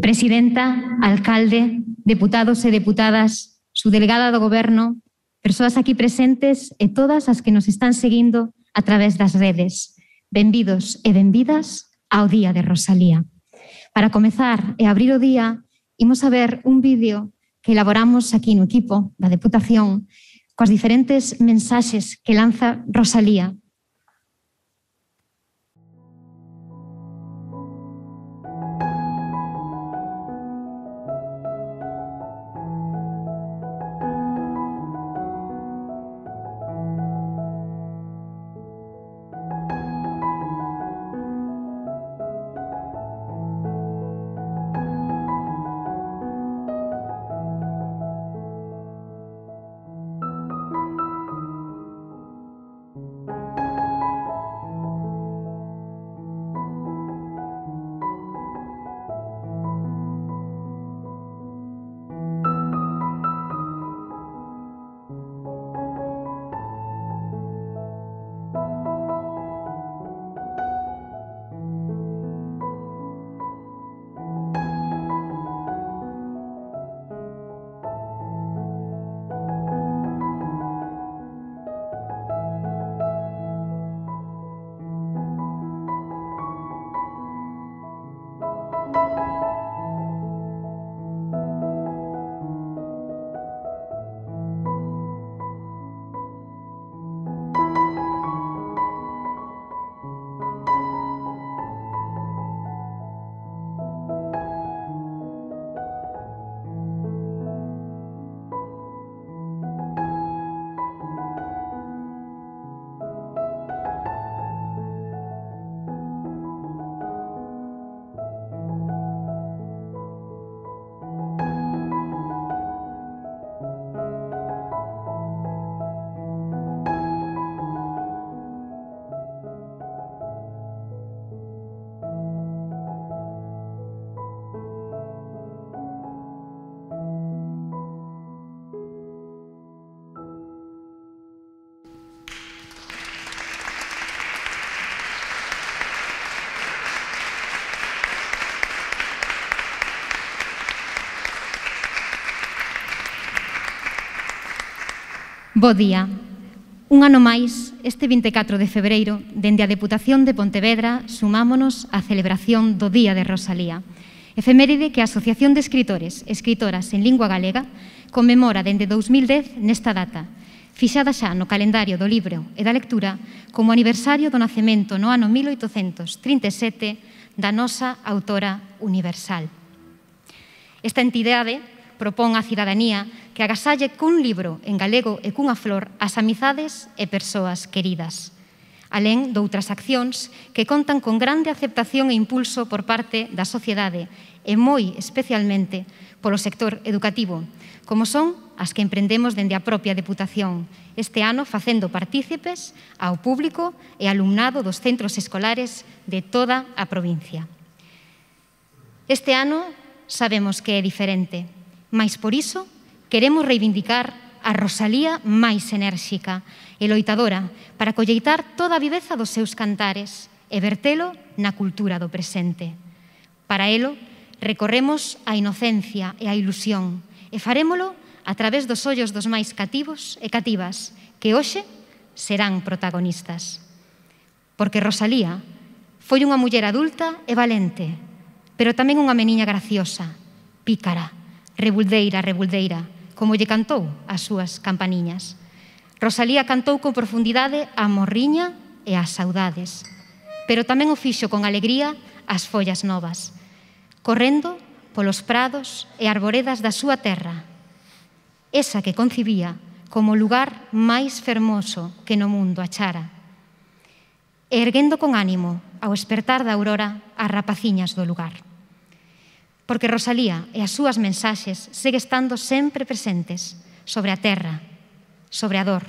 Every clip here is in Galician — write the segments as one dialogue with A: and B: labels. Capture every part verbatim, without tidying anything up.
A: Presidenta, alcalde, deputados e deputadas, subdelegada do Goberno, persoas aquí presentes e todas as que nos están seguindo a través das redes. Benvidos e benvidas ao Día de Rosalía. Para comezar e abrir o día, imos a ver un vídeo que elaboramos aquí no equipo da Deputación coas diferentes mensaxes que lanza Rosalía. Bo día. Un ano máis, este vinte e catro de febreiro, dende a Deputación de Pontevedra, sumámonos á celebración do Día de Rosalía, efeméride que a Asociación de Escritores e Escritoras en Lingua Galega conmemora dende dous mil dez nesta data, fixada xa no calendario do libro e da lectura como aniversario do nacemento no ano mil oitocentos trinta e sete da nosa autora universal. Esta entidade propón á cidadanía que agasalle cun libro en galego e cunha flor as amizades e persoas queridas, alén doutras accións que contan con grande aceptación e impulso por parte da sociedade e moi especialmente polo sector educativo, como son as que emprendemos dende a propia Deputación, este ano facendo partícipes ao público e alumnado dos centros escolares de toda a provincia. Este ano sabemos que é diferente, mais por iso queremos reivindicar a Rosalía máis enérxica e loitadora para colleitar toda a viveza dos seus cantares e vertelo na cultura do presente. Para elo, recorremos a inocencia e a ilusión e farémolo a través dos ollos dos máis cativos e cativas que hoxe serán protagonistas. Porque Rosalía foi unha muller adulta e valente, pero tamén unha meniña graciosa, pícara, rebuldeira, rebuldeira, como lle cantou as súas campaniñas. Rosalía cantou con profundidade a morriña e as saudades, pero tamén o fixo con alegría as follas novas, correndo polos prados e arboredas da súa terra, esa que concibía como o lugar máis fermoso que no mundo achara, e erguendo con ánimo ao espertar da aurora as rapaciñas do lugar. Porque Rosalía e as súas mensaxes segue estando sempre presentes sobre a terra, sobre a dor,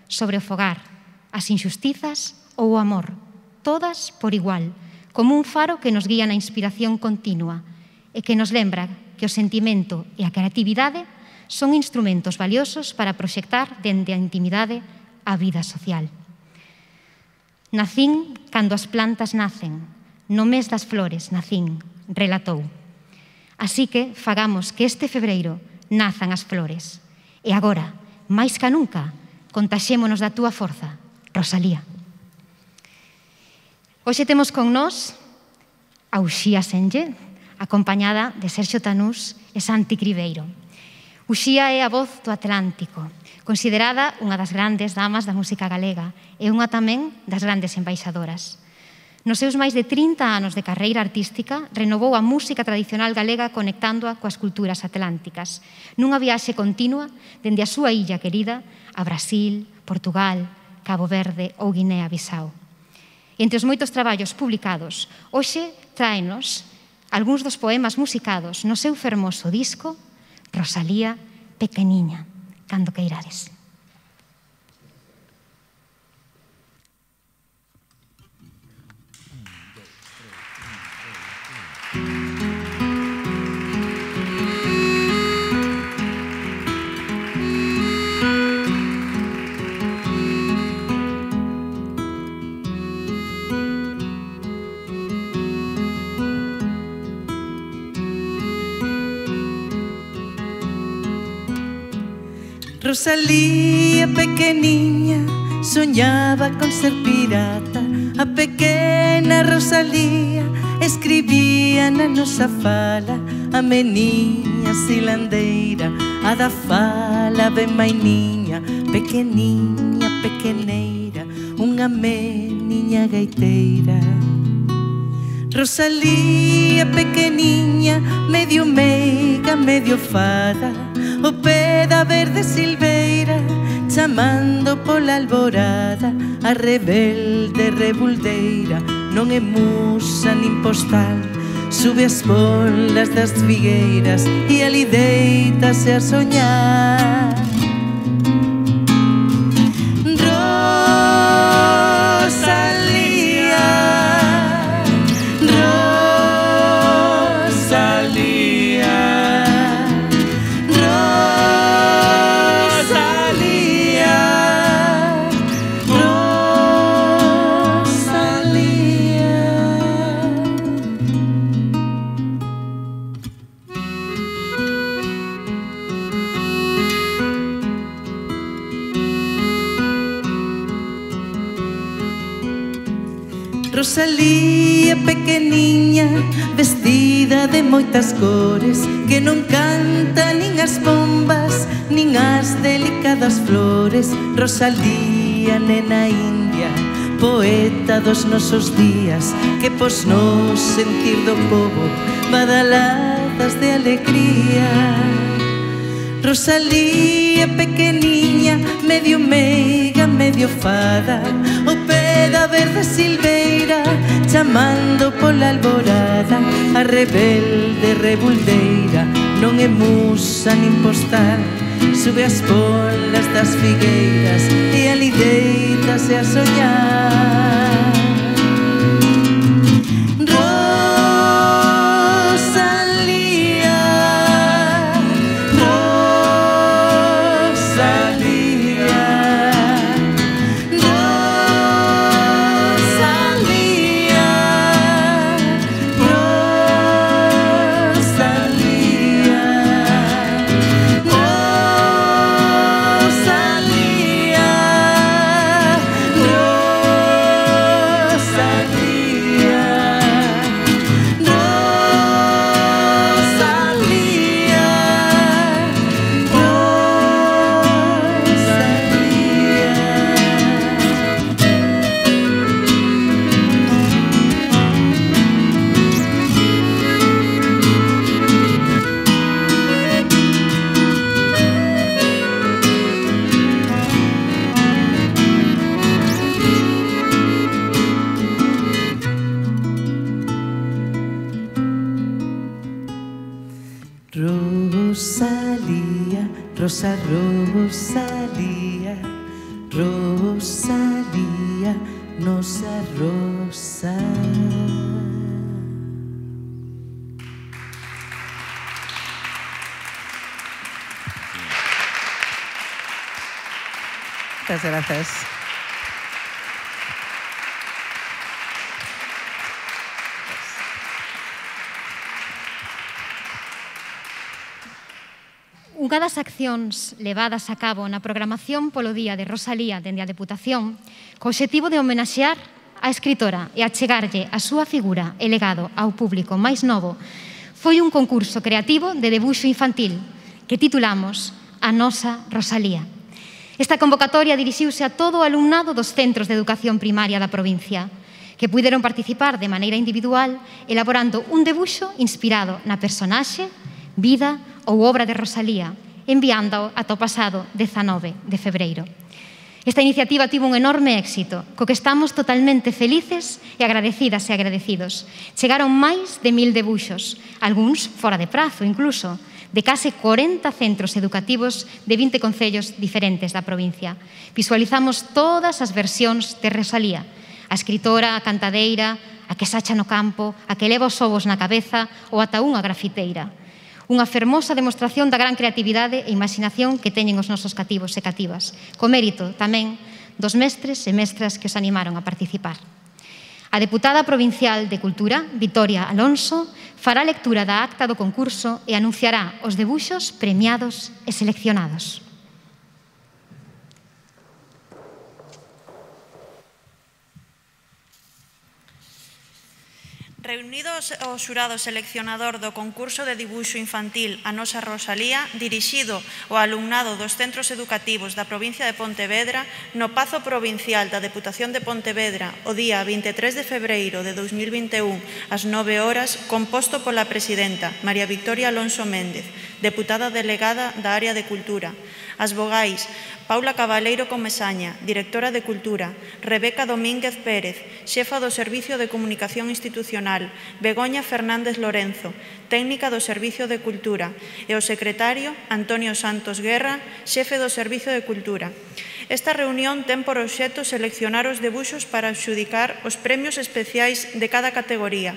A: sobre o fogar, as injustizas ou o amor, todas por igual, como un faro que nos guía na inspiración continua e que nos lembra que o sentimento e a creatividade son instrumentos valiosos para proxectar dende a intimidade a vida social. Nacín cando as plantas nacen, no mes das flores nacín, relatou. Así que fagamos que este febreiro nazan as flores. E agora, máis ca nunca, contaxémonos da túa forza, Rosalía. Hoxe temos con nós a Uxía Senlle, acompañada de Sergio Tanús e Santi Cribeiro. Uxía é a voz do Atlántico, considerada unha das grandes damas da música galega e unha tamén das grandes embaixadoras. Nos seus máis de trinta anos de carreira artística, renovou a música tradicional galega conectándoa coas culturas atlánticas, nunha viaxe continua dende a súa illa querida a Brasil, Portugal, Cabo Verde ou Guinea-Bissau. Entre os moitos traballos publicados, hoxe tráenos algúns dos poemas musicados no seu fermoso disco Rosalía Pequeniña, cando queirades.
B: Rosalía pequeniña soñaba con ser pirata. A pequena Rosalía escribía na nosa fala. A meniña silandeira, a da fala ben mainiña. Pequeniña, pequeneira, unha meniña gaiteira. Rosalía pequeniña, medio meiga, medio fada, o pé da verde silveira, chamando pola alborada. A rebelde rebuldeira non é musa nin postal, sube as bolas das figueiras e ali deítase a soñar. Rosalía pequeniña, vestida de moitas cores, que non canta nin as bombas, nin as delicadas flores. Rosalía, nena india, poeta dos nosos días, que pos nos sentir do pobo badaladas de alegría. Rosalía pequeniña, medio meiga, medio fada, o pé da verde silveira, chamando pola alborada. A rebelde rebuldeira non é musa nin postal, sube as polas das figueiras e ali deítase a soñar. Rosalía, Rosa Rosalía, Rosalía, nosa rosa. Muchas gracias.
A: Unha das accións levadas a cabo na programación polo Día de Rosalía dende a Deputación, co obxectivo de homenaxear a escritora e achegarlle a súa figura e legado ao público máis novo, foi un concurso creativo de debuxo infantil que titulamos A Nosa Rosalía. Esta convocatoria dirixiuse a todo o alumnado dos centros de educación primaria da provincia, que puideron participar de maneira individual elaborando un debuxo inspirado na personaxe, vida ou obra de Rosalía, enviándao ata o pasado dezanove de febreiro. Esta iniciativa tivo un enorme éxito, co que estamos totalmente felices e agradecidas e agradecidos. Chegaron máis de mil debuxos, algúns fora de prazo incluso, de case corenta centros educativos de vinte concellos diferentes da provincia. Visualizamos todas as versións de Rosalía, a escritora, a cantadeira, a que sacha no campo, a que leva os ovos na cabeza ou ata unha grafiteira. Unha fermosa demostración da gran creatividade e imaginación que teñen os nosos cativos e cativas, co mérito tamén dos mestres e mestras que os animaron a participar. A deputada provincial de Cultura, Vitoria Alonso, fará lectura da acta do concurso e anunciará os debuxos premiados e seleccionados.
C: Reunidos o xurado seleccionador do concurso de dibuixo infantil A Nosa Rosalía, dirixido ao alumnado dos centros educativos da provincia de Pontevedra, no Pazo Provincial da Deputación de Pontevedra, o día vinte e tres de febreiro de dous mil vinte e un, ás nove horas, composto pola presidenta María Victoria Alonso Méndez, deputada delegada da área de Cultura, as vogais Paula Cabaleiro Comesaña, directora de Cultura, Rebeca Domínguez Pérez, xefa do Servicio de Comunicación Institucional, Begoña Fernández Lorenzo, técnica do Servicio de Cultura, e o secretario Antonio Santos Guerra, xefe do Servicio de Cultura. Esta reunión ten por obxecto seleccionar os debuxos para adxudicar os premios especiais de cada categoría: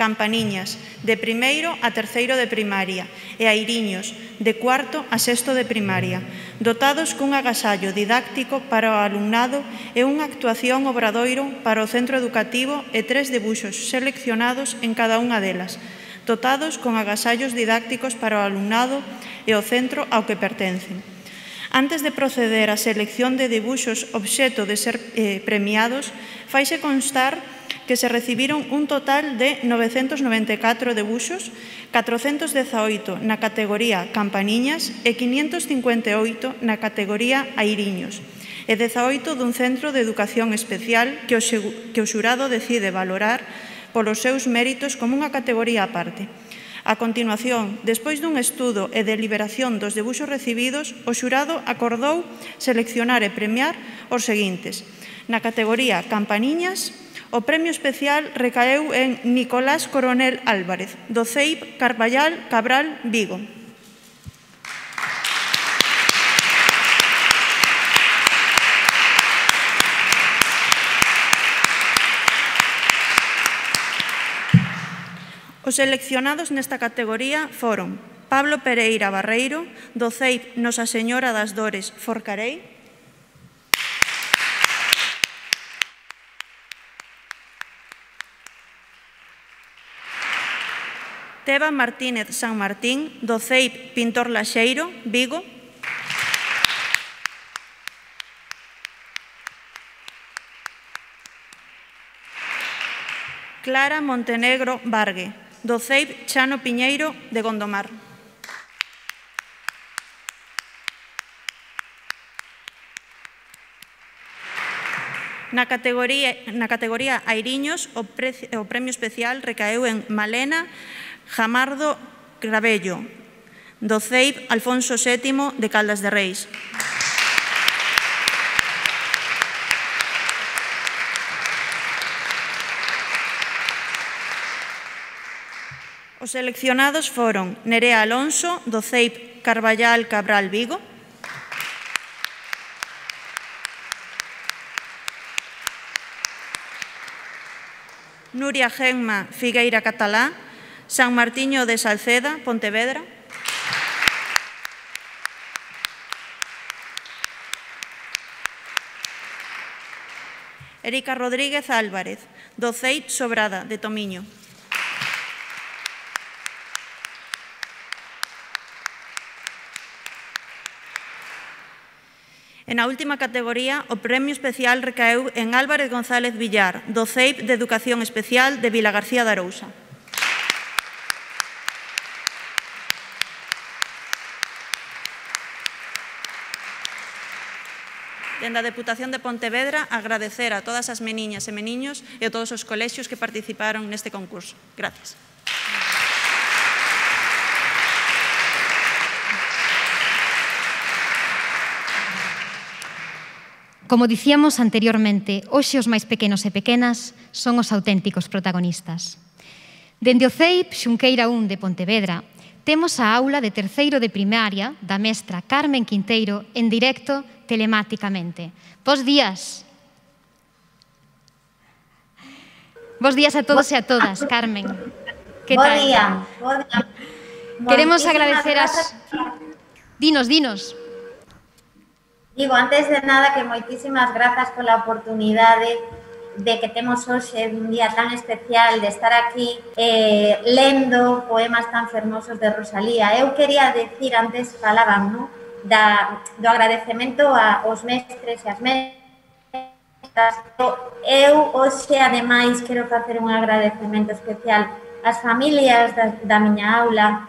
C: Campaniñas, de primeiro a terceiro de primaria, e Airiños, de cuarto a sexto de primaria, dotados cun agasallo didáctico para o alumnado e unha actuación obradoiro para o centro educativo e tres debuxos seleccionados en cada unha delas, dotados con agasallos didácticos para o alumnado e o centro ao que pertencen. Antes de proceder á selección de debuxos obxecto de ser eh, premiados, faise constar que se recibiron un total de novecentos noventa e catro debuxos, catrocentos dezaoito na categoría Campaniñas e quinientos cincuenta e oito na categoría Airiños, e dezaoito dun centro de educación especial que o, que o xurado decide valorar polos seus méritos como unha categoría aparte. A continuación, despois dun estudo e deliberación dos debuxos recibidos, o xurado acordou seleccionar e premiar os seguintes. Na categoría Campaniñas, o premio especial recaeu en Nicolás Coronel Álvarez, do C E I P Carballal Cabral, Vigo. Os seleccionados nesta categoría foron Pablo Pereira Barreiro, do C E I P Nosa Señora das Dores, Forcarei, Teba Martínez San Martín, do C E I P Pintor Laxeiro, Vigo, Clara Montenegro Vargue, do C E I P Chano Piñeiro, de Gondomar. Na categoría, na categoría Airiños, o, pre, o premio especial recaeu en Malena Jamardo Gravello, do C E I P Alfonso sétimo, de Caldas de Reis. Os seleccionados foron Nerea Alonso, do C E I P Carballal Cabral, Vigo, Nuria Genma Figueira Catalá, San Martiño de Salceda, Pontevedra, Erika Rodríguez Álvarez, do C E I P Sobrada, de Tomiño, E na última categoría, o premio especial recaeu en Álvarez González Villar, do C E I P de Educación Especial de Vilagarcía de Arousa. Dende a Deputación de Pontevedra, agradecer a todas as meniñas e meniños e a todos os colexios que participaron neste concurso. Gracias.
A: Como dicíamos anteriormente, hoxe os máis pequenos e pequenas son os auténticos protagonistas. Dende o C E I P Xunqueira un de Pontevedra, temos a aula de terceiro de primaria da mestra Carmen Quinteiro en directo telemáticamente. Bos días. Bos días a todos e a todas, Carmen. Que
D: Bo
A: tal?
D: día, bo día.
A: Queremos
D: Moitísimas
A: agradecer as...
D: grazas.
A: Dinos, dinos.
D: Digo, antes de nada, que moitísimas grazas pola oportunidade de que temos hoxe un día tan especial de estar aquí eh, lendo poemas tan fermosos de Rosalía. Eu quería decir, antes falaban, non? Da, do agradecemento aos mestres e as mestras. Eu hoxe, ademais, quero facer un agradecemento especial ás familias da, da miña aula,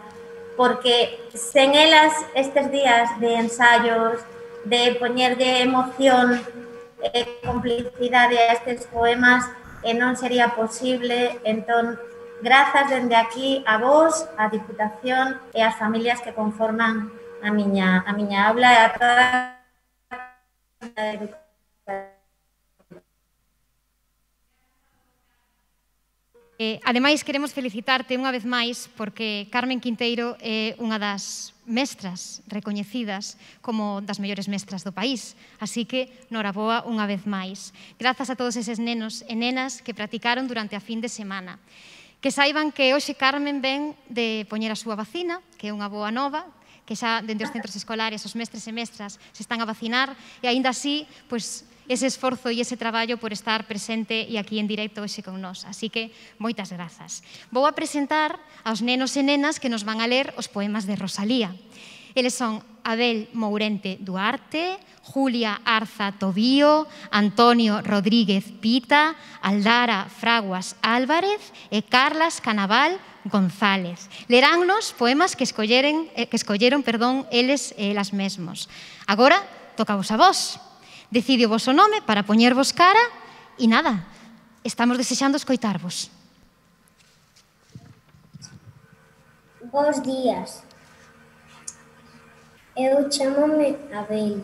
D: porque sen elas estes días de ensaios, de poñer de emoción e complicidade a estes poemas, e non sería posible. Entón, grazas dende aquí a vos, a Diputación e as familias que conforman a miña, a miña aula e a toda a educación.
A: Eh, ademais, queremos felicitarte unha vez máis porque Carmen Quinteiro é unha das mestras recoñecidas como das mellores mestras do país. Así que, noraboa unha vez máis. Grazas a todos eses nenos e nenas que practicaron durante a fin de semana. Que saiban que hoxe Carmen ven de poñer a súa vacina, que é unha boa nova, que xa dende os centros escolares os mestres e mestras se están a vacinar e aínda así, pois, ese esforzo e ese traballo por estar presente e aquí en directo hoxe con nós. Así que, moitas grazas. Vou a presentar aos nenos e nenas que nos van a ler os poemas de Rosalía. Eles son Abel Mourente Duarte, Julia Arza Tobío, Antonio Rodríguez Pita, Aldara Fraguas Álvarez e Carlas Canaval González. Leránnos poemas que escolleren, eh, que escolleron, perdón, eles e elas mesmos. Agora, tocavos a vos. Decidio vos o nome para poñervos cara e nada, estamos desexando escoitarvos.
E: Bos días. Eu chamome Abel.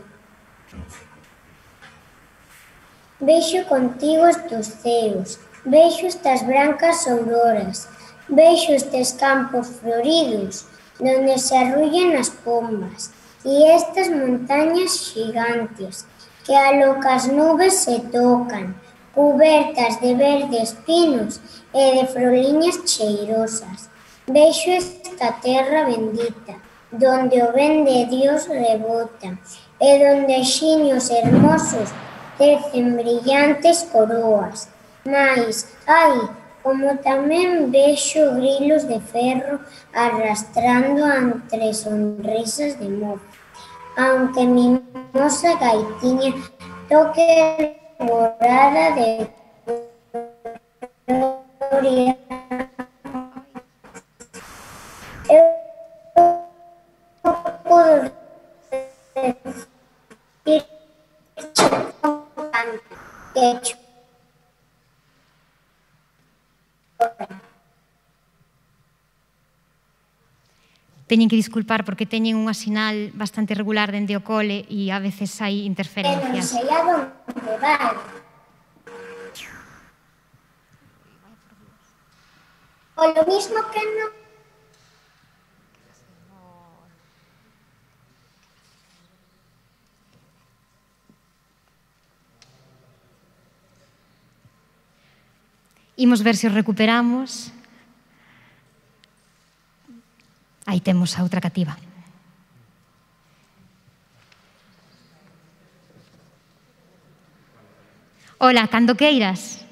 E: Vexo contigo estes ceos, vexo estas brancas auroras, vexo estes campos floridos, donde se arrullan as pombas, e estas montañas gigantes, que a locas nubes se tocan, cubertas de verdes pinos e de froliñas cheirosas. Vexo esta terra bendita, donde o ben de Dios rebota, e donde xiños hermosos tecen brillantes coroas. Mais, ai, como tamén vexo grilos de ferro arrastrando entre sonrisas de mozo. Aunque mi mimosa gaitiña toque morada de gloria, eu podo decir que
A: Teñen que disculpar porque teñen unha sinal bastante regular dende o cole e a veces hai
E: non
A: interferencias.
E: sei a donde vai. O lo mismo que non.
A: Imos ver se os recuperamos. Aí temos a outra cativa. Ola, cando queiras.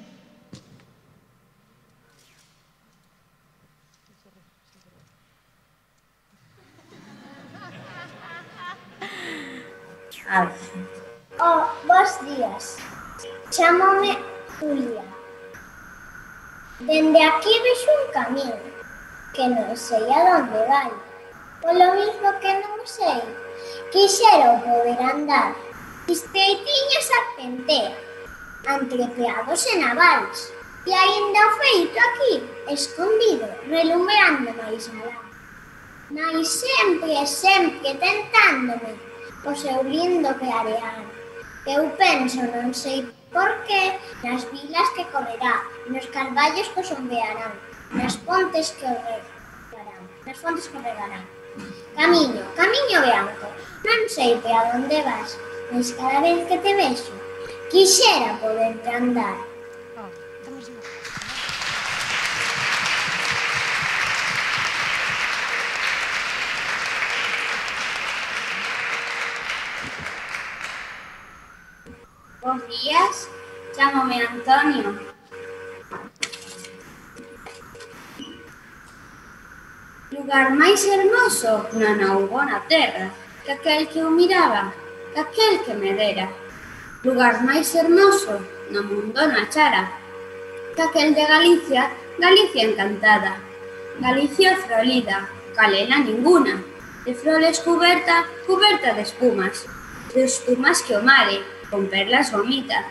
D: A ver.
E: días. Chámome Julia. Dende aquí vexo un camiño que non sei a onde vai. Polo mismo que non sei, quixera poder andar estreitiña serpentea, entre peados e navales, e aínda feito aquí, escondido, relumbreando máis alá. Mais sempre e sempre tentándome o seu lindo clarear. Eu penso, non sei por qué, nas vilas que correrá, nos carballos que os ondearán, nas pontes que o regarán, nas fontes que o regarán. Camiño, camiño branco, non sei pe a onde vas, mas cada vez que te vexo, quixera poderte andar.
F: Bos días, chámome Antonio. Lugar máis hermoso non houbo na terra, que aquel que o miraba, que aquel que me dera. Lugar máis hermoso no mundo non achara, que aquel de Galicia, Galicia encantada. Galicia frolida, calela ninguna, de froles cuberta, cuberta de espumas, de espumas que o mare, con perlas vomita,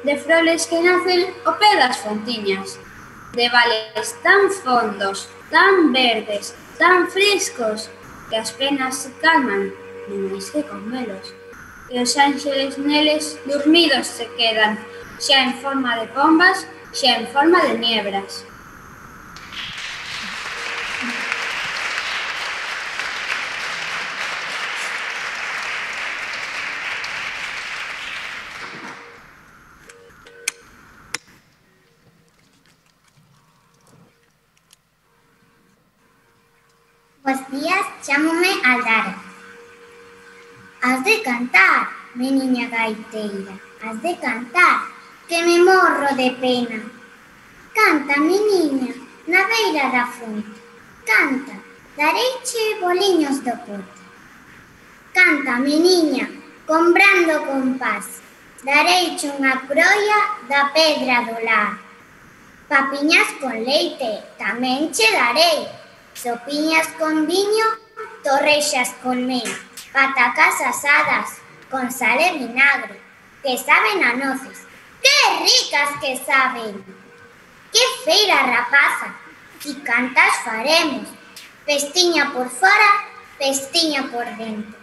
F: de froles que nacen o pé das fontiñas, de vales tan fondos, tan verdes, tan frescos, que as penas se calman, non máis que con velos, e os ángeles neles dormidos se quedan, xa en forma de pombas, xa en forma de niebras.
E: Bos días, chámome Aldara. Has de cantar, meniña gaiteira, has de cantar, que me morro de pena. Canta, meniña, na beira da fonte, canta, dareiche boliños do pote. Canta, meniña, con brando compás, dareiche unha croia da pedra do lar. Papiñas con leite, tamén che darei, sopiñas con viño, torrexas con mel, patacas asadas con sal e vinagre, que saben a noces. ¡Qué ricas que saben! ¡Qué feira rapaza! Si cantas faremos, pestiña por fora, pestiña por dentro.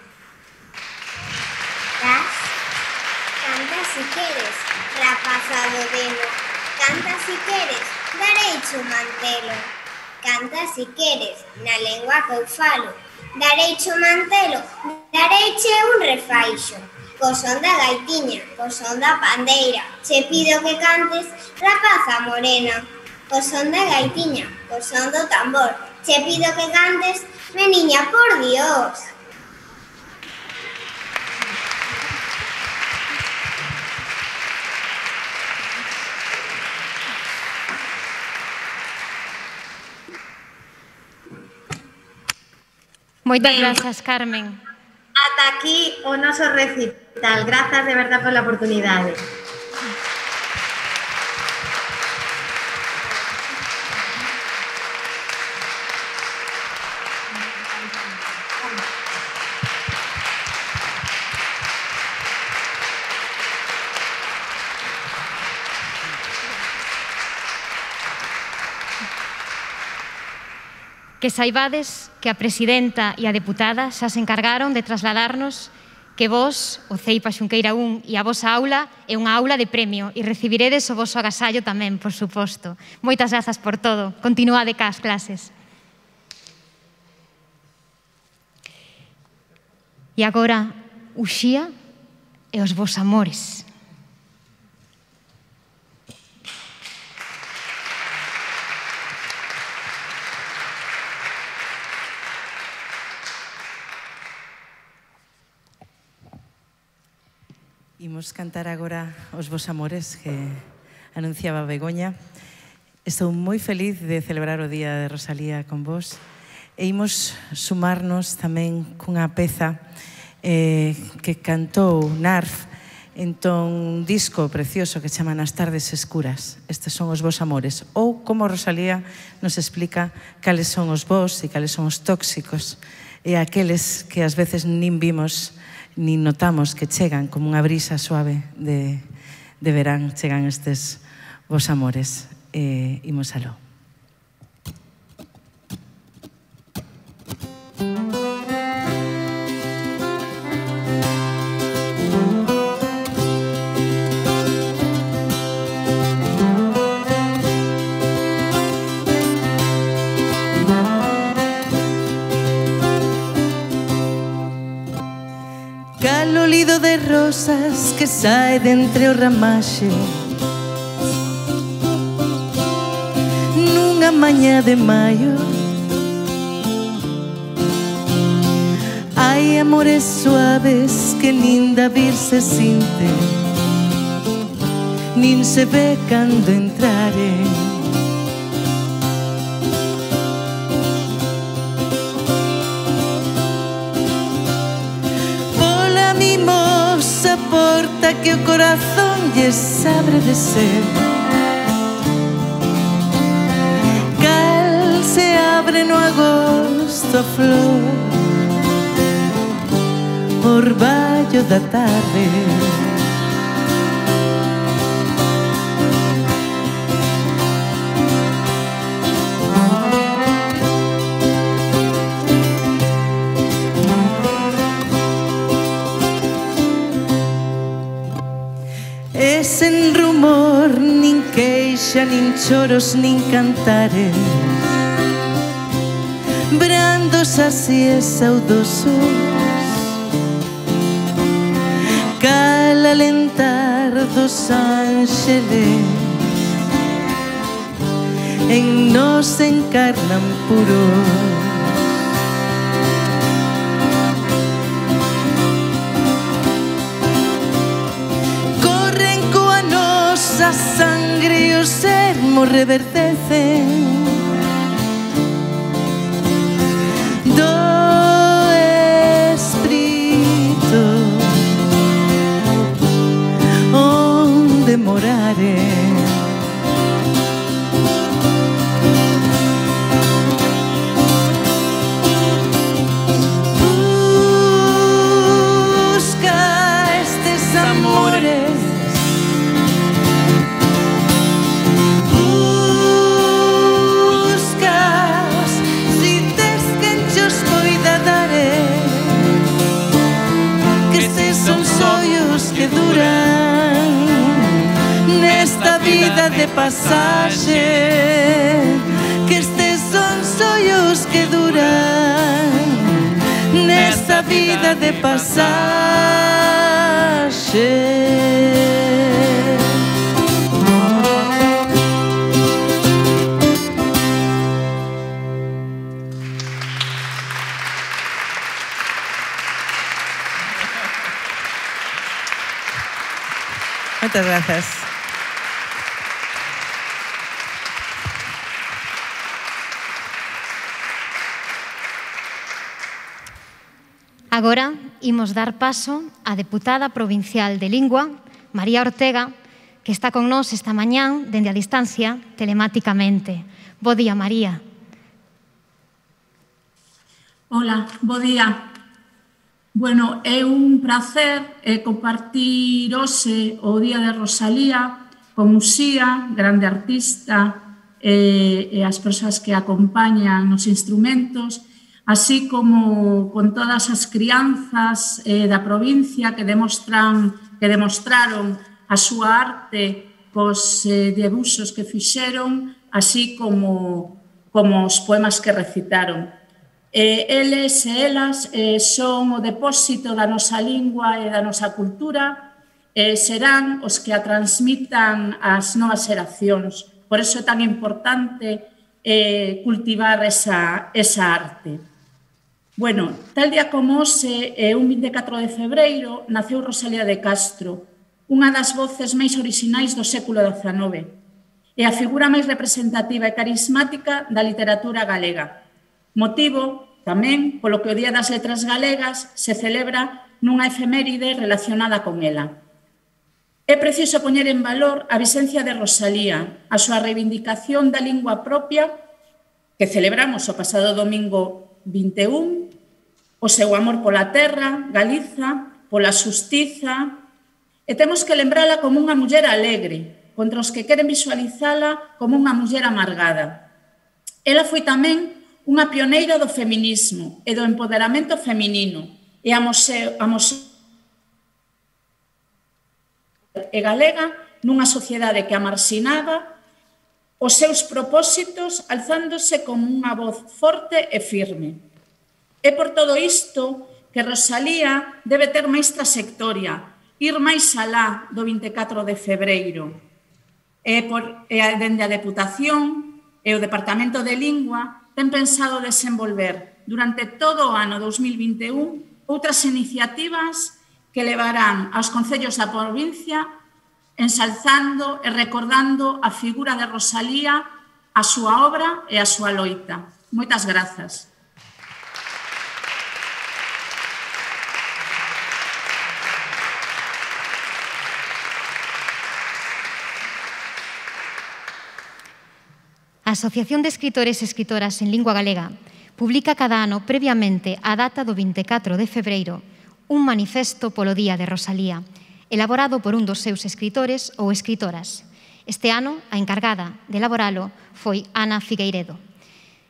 E: Das? Canta si queres, rapaza do demo, canta si queres, dareiche o mantelo. Canta si queres, na lengua que eu falo, dareiche o mantelo, dareiche un refaixo. Co son da gaitiña, co son da pandeira, che pido que cantes, rapaza morena. Co son da gaitiña, co son do tambor, che pido que cantes, meniña, por Dios.
A: Moitas grazas, Carmen.
D: Ata aquí o noso recital. Grazas de verdad pola oportunidade.
A: Que saibades que a presidenta e a deputada xa se encargaron de trasladarnos que vos, o Ceipa Xunqueira un e a vosa aula é unha aula de premio e recibiredes o voso agasallo tamén, por suposto. Moitas grazas por todo. Continuade cas clases. E agora, Uxía e os vos amores.
B: Imos cantar agora os vos amores que anunciaba Begoña. Estou moi feliz de celebrar o Día de Rosalía con vos e imos sumarnos tamén cunha peza eh, que cantou Narf Entón, un disco precioso que chama Nas tardes escuras. Estes son os vos amores. Ou como Rosalía nos explica cales son os vos e cales son os tóxicos e aqueles que ás veces nin vimos nin notamos que chegan como unha brisa suave de, de verán, chegan estes vos amores. E imos aló. Lido de rosas que sae de entre o ramaxe nunha mañá de maio. Hai amores suaves que nin da vir se sinte, nin se ve cando entrare. Porta que o corazón lles abre de ser, cal se abre no agosto a flor, orballo da tarde. E sen rumor, nin queixa, nin choros, nin cantares, brandos así e saudosos, cal alentar dos ángeles, en nos encarnan puros. A sangre e o sermo reverdecen do espírito onde morare. Busca estes amores, que duran nesta vida de pasaxe, que estes son sonhos que duran nesta vida de pasaxe. Muchas gracias.
A: Agora imos dar paso á deputada provincial de Lingua, María Ortega, que está con nós esta mañán dende a distancia telemáticamente. Bo día, María.
G: Hola, bo día. Bueno, é un placer eh, compartir hoxe o Día de Rosalía con Uxía, grande artista, eh, e as persoas que acompañan nos instrumentos, así como con todas as crianzas eh, da provincia que demostran que demostraron a súa arte cos eh, debuxos que fixeron, así como, como os poemas que recitaron. Eh, eles e elas eh, son o depósito da nosa lingua e da nosa cultura, eh, serán os que a transmitan ás novas xeracións. Por iso é tan importante eh, cultivar esa, esa arte. Bueno, tal día como hoxe, eh, un vinte e catro de febreiro, naceu Rosalía de Castro, unha das voces máis orixinais do século dezanove, e a figura máis representativa e carismática da literatura galega. Motivo, tamén, polo que o Día das Letras Galegas se celebra nunha efeméride relacionada con ela. É preciso poñer en valor a visencia de Rosalía, a súa reivindicación da lingua propia que celebramos o pasado domingo vinte e un, o seu amor pola terra, Galiza, pola xustiza, e temos que lembrala como unha muller alegre, contra os que queren visualizala como unha muller amargada. Ela foi tamén unha pioneira do feminismo e do empoderamento feminino e a museo, a museo e galega nunha sociedade que a marxinaba os seus propósitos alzándose como unha voz forte e firme. É por todo isto que Rosalía debe ter máis trayectoria, ir máis alá do vinte e catro de febreiro. E, por, e dende a Deputación e o Departamento de Lingua ten pensado desenvolver durante todo o ano dos mil vinte e un outras iniciativas que levarán aos concellos da provincia ensalzando e recordando a figura de Rosalía, a súa obra e a súa loita. Moitas grazas.
A: A Asociación de Escritores e Escritoras en Lingua Galega publica cada ano previamente a data do vinte e catro de febreiro un manifesto polo Día de Rosalía, elaborado por un dos seus escritores ou escritoras. Este ano, a encargada de elaboralo foi Ana Figueiredo.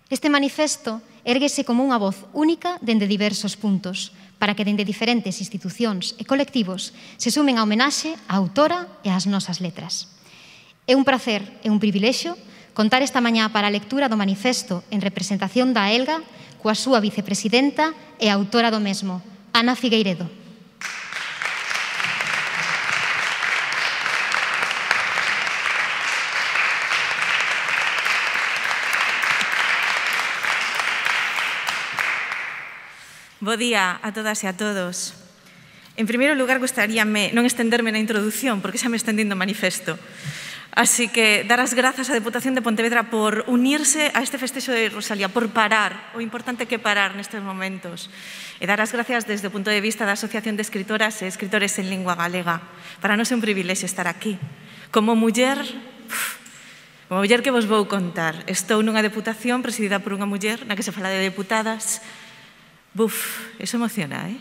A: Este manifesto érguese como unha voz única dende diversos puntos, para que dende diferentes institucións e colectivos se sumen a homenaxe á autora e ás nosas letras. É un prazer e un privilexio contar esta mañá para a lectura do manifesto en representación da Elga coa súa vicepresidenta e autora do mesmo, Ana Figueiredo.
H: Bo día a todas e a todos. En primeiro lugar, gostaríame non estenderme na introdución, porque xa me estendendo o manifesto. Así que dar as grazas á Deputación de Pontevedra por unirse a este festexo de Rosalía, por parar, o importante que parar nestes momentos. E dar as gracias desde o punto de vista da Asociación de Escritoras e Escritores en Lingua Galega. Para nós é un privilexio estar aquí. Como muller, como muller que vos vou contar, estou nunha deputación presidida por unha muller na que se fala de deputadas. Buf, eso emociona, eh?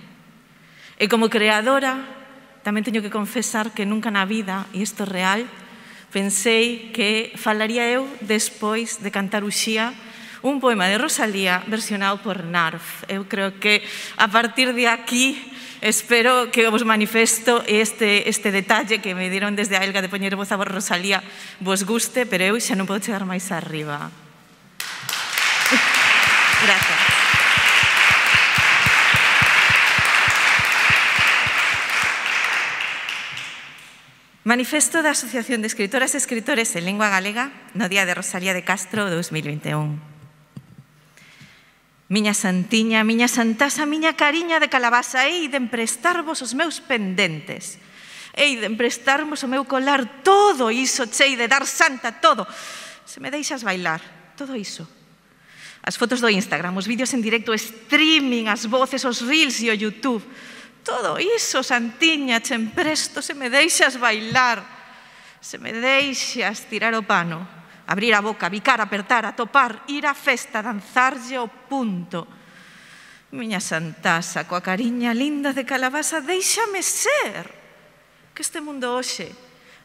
H: E como creadora, tamén teño que confesar que nunca na vida, e isto é real, pensei que falaría eu despois de cantar Uxía un poema de Rosalía versionado por Narf. Eu creo que a partir de aquí espero que vos manifesto este, este detalle que me dieron desde a Elga de poñer voz a Rosalía vos guste, pero eu xa non podo chegar máis arriba. Gracias. Manifesto da Asociación de Escritoras e Escritores en Lingua Galega no Día de Rosalía de Castro dos mil vinte e un. Miña santiña, miña santasa, miña cariña de calabaza, hei de emprestarvos os meus pendentes, hei de emprestarvos o meu colar, todo iso, chei de dar santa, todo. Se me deixas bailar, todo iso. As fotos do Instagram, os vídeos en directo, o streaming, as voces, os reels e o YouTube. Todo iso, santiña, che empresto, se me deixas bailar, se me deixas tirar o pano, abrir a boca, bicar, apertar, atopar, ir á festa, danzarlle o punto. Miña santasa, coa cariña linda de calabaza, déixame ser, que este mundo hoxe,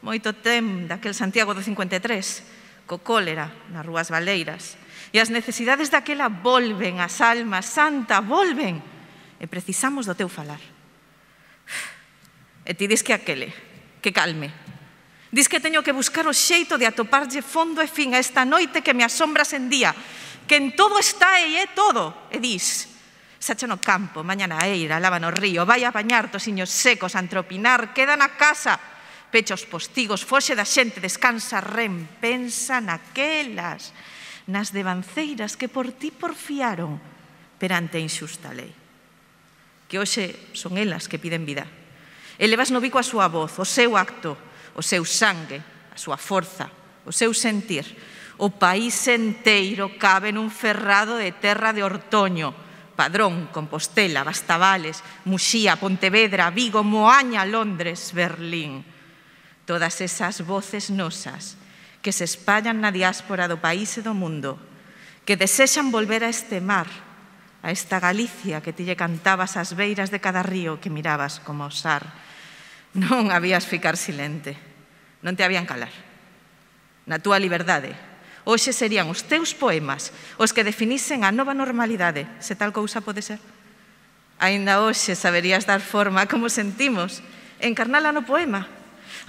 H: moito tem daquel Santiago do cincuenta e tres, co cólera nas rúas baleiras, e as necesidades daquela volven, as almas, santa, volven, e precisamos do teu falar. E ti dis que aquele, que calme. Dis que teño que buscar o xeito de atoparlle fondo e fin a esta noite que me asombra sen día, que en todo está e é todo. E dis, sacha no campo, mañana a eira, lava no río, vai a bañar tosiños secos, a antropinar, queda na casa, pecha os postigos, foxe da xente, descansa, ren, pensa naquelas, nas devanceiras que por ti porfiaron perante a inxusta lei. Que hoxe son elas que piden vida. Elevas no bico a súa voz, o seu acto, o seu sangue, a súa forza, o seu sentir. O país enteiro cabe nun ferrado de terra de Ortoño, Padrón, Compostela, Bastavales, Muxía, Pontevedra, Vigo, Moaña, Londres, Berlín.
I: todas esas voces nosas que se espallan na diáspora do país e do mundo, que desexan volver a este mar, a esta Galicia que ti lle cantabas ás beiras de cada río que mirabas como osar. Non habías ficar silente, non te habían calar. Na túa liberdade, hoxe serían os teus poemas os que definisen a nova normalidade, se tal cousa pode ser. Aínda hoxe saberías dar forma a como sentimos, encarnala no poema.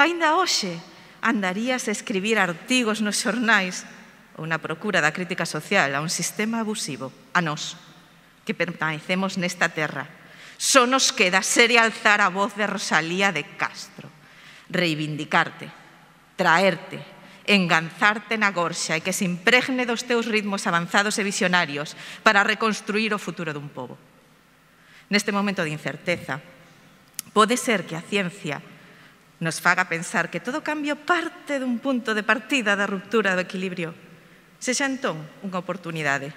I: Aínda hoxe andarías a escribir artigos nos xornais ou na procura da crítica social a un sistema abusivo, a nós, que permanecemos nesta terra. Só nos queda ser e alzar a voz de Rosalía de Castro, reivindicarte, traerte, enganzarte na gorxa e que se impregne dos teus ritmos avanzados e visionarios para reconstruir o futuro dun pobo. Neste momento de incerteza, pode ser que a ciencia nos faga pensar que todo cambio parte dun punto de partida da ruptura do equilibrio. Sexa entón unha oportunidade.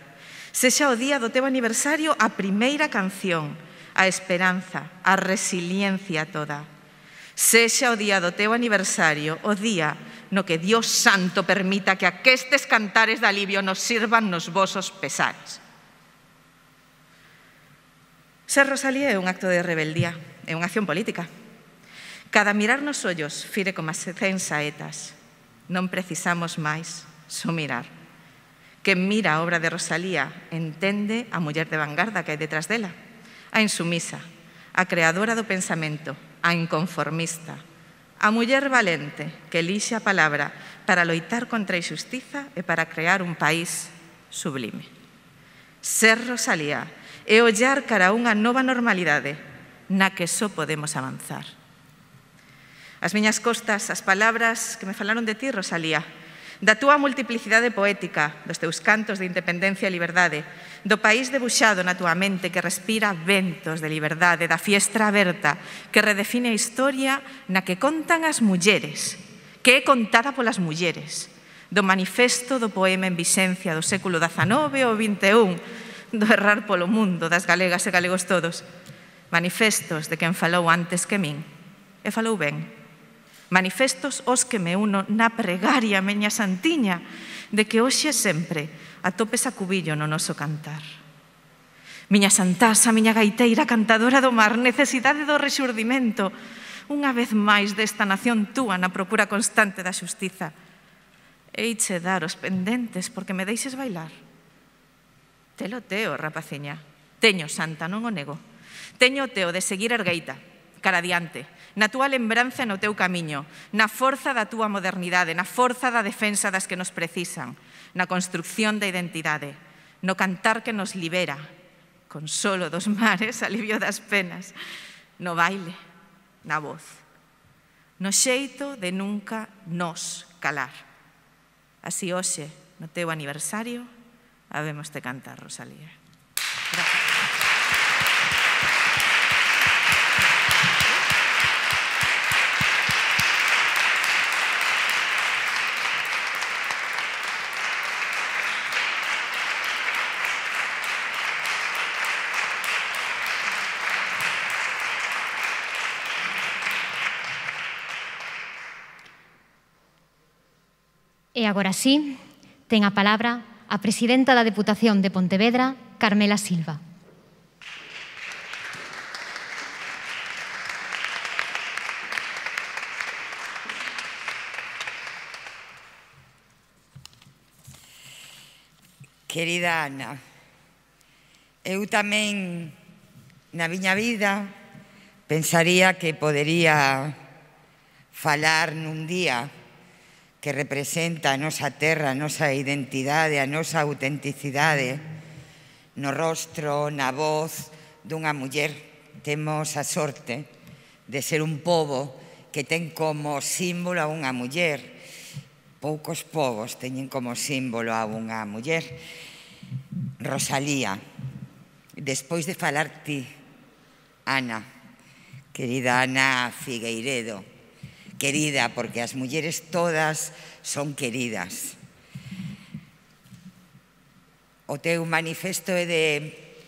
I: Sexa o día do teu aniversario a primeira canción, a esperanza, a resiliencia toda. Sexa o día do teu aniversario, o día no que Dios Santo permita que aquestes cantares de alivio nos sirvan nos vosos pesares. Ser Rosalía é un acto de rebeldía, é unha acción política. Cada mirar nos ollos fire como as cen saetas. Non precisamos máis só mirar. Quen mira a obra de Rosalía entende a muller de vanguarda que hai detrás dela, a insumisa, a creadora do pensamento, a inconformista, a muller valente que elixe a palabra para loitar contra a injustiza e para crear un país sublime. Ser Rosalía é ollar cara a unha nova normalidade na que só podemos avanzar. As miñas costas, as palabras que me falaron de ti, Rosalía, da túa multiplicidade poética, dos teus cantos de independencia e liberdade, do país debuxado na túa mente que respira ventos de liberdade, da fiestra aberta que redefine a historia na que contan as mulleres, que é contada polas mulleres, do manifesto do poema en vixencia do século dezanove ou vinte e un, do errar polo mundo das galegas e galegos todos, manifestos de quen falou antes que min, e falou ben. Manifestos os que me uno na pregaria, meña santiña, de que hoxe sempre atopes a cubillo no noso cantar. Miña santasa, miña gaiteira, cantadora do mar, necesidade do rexurdimento, unha vez máis desta nación túa na procura constante da xustiza. Eiche dar os pendentes porque me deixes bailar. Telo teo, rapaciña. Teño, santa, non o nego. Teño o teo de seguir ergueita, cara adiante, na túa lembranza e no teu camiño, na forza da túa modernidade, na forza da defensa das que nos precisan, na construcción da identidade, no cantar que nos libera, consolo dos mares, alivio das penas, no baile, na voz, no xeito de nunca nos calar. Así hoxe, no teu aniversario, habemos de cantar, Rosalía. Gracias.
A: E agora sí, ten a palabra a presidenta da Deputación de Pontevedra, Carmela Silva.
J: Querida Ana, eu tamén na miña vida pensaría que podería falar nun día que representa a nosa terra, a nosa identidade, a nosa autenticidade, no rostro, na voz dunha muller. Temos a sorte de ser un pobo que ten como símbolo a unha muller. Poucos povos teñen como símbolo a unha muller. Rosalía, despois de falar ti, Ana, querida Ana Figueiredo, querida, porque as mulleres todas son queridas. O teu manifesto é de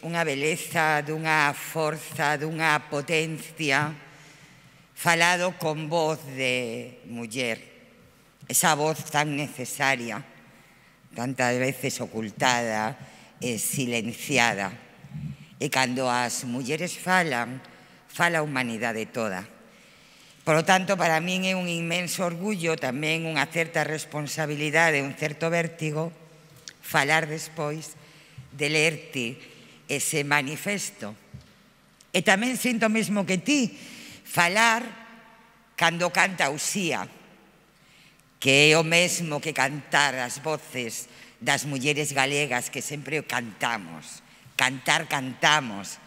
J: unha beleza, dunha forza, dunha potencia falado con voz de muller, esa voz tan necesaria, tantas veces ocultada e silenciada. E cando as mulleres falan, fala a humanidade toda. Por lo tanto, para min é un inmenso orgullo, tamén unha certa responsabilidade, un certo vértigo, falar despois de lerte ese manifesto. E tamén sinto mesmo que ti, falar cando canta Uxía, que é o mesmo que cantar as voces das mulleres galegas que sempre cantamos. Cantar, cantamos,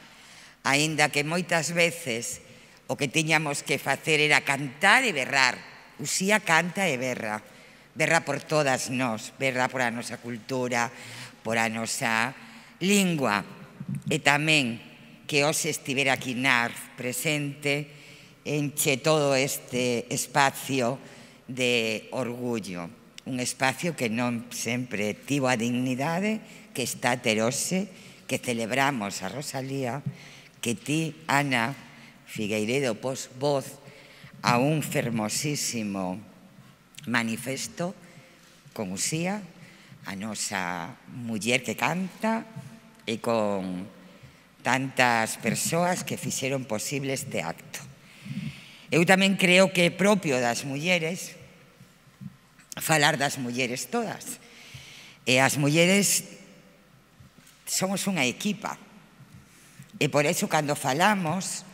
J: aínda que moitas veces o que tiñamos que facer era cantar e berrar. Uxía canta e berra, berra por todas nós, berra por a nosa cultura, por a nosa lingua. E tamén que hoxe estivera aquí Narf presente, enche todo este espacio de orgullo, un espacio que non sempre tivo a dignidade que está ter hoxe, que celebramos a Rosalía, que ti, Ana Figueiredo, pos voz a un fermosísimo manifesto con Uxía, a nosa muller que canta, e con tantas persoas que fixeron posible este acto. Eu tamén creo que é propio das mulleres falar das mulleres todas. E as mulleres somos unha equipa. E por eso, cando falamos,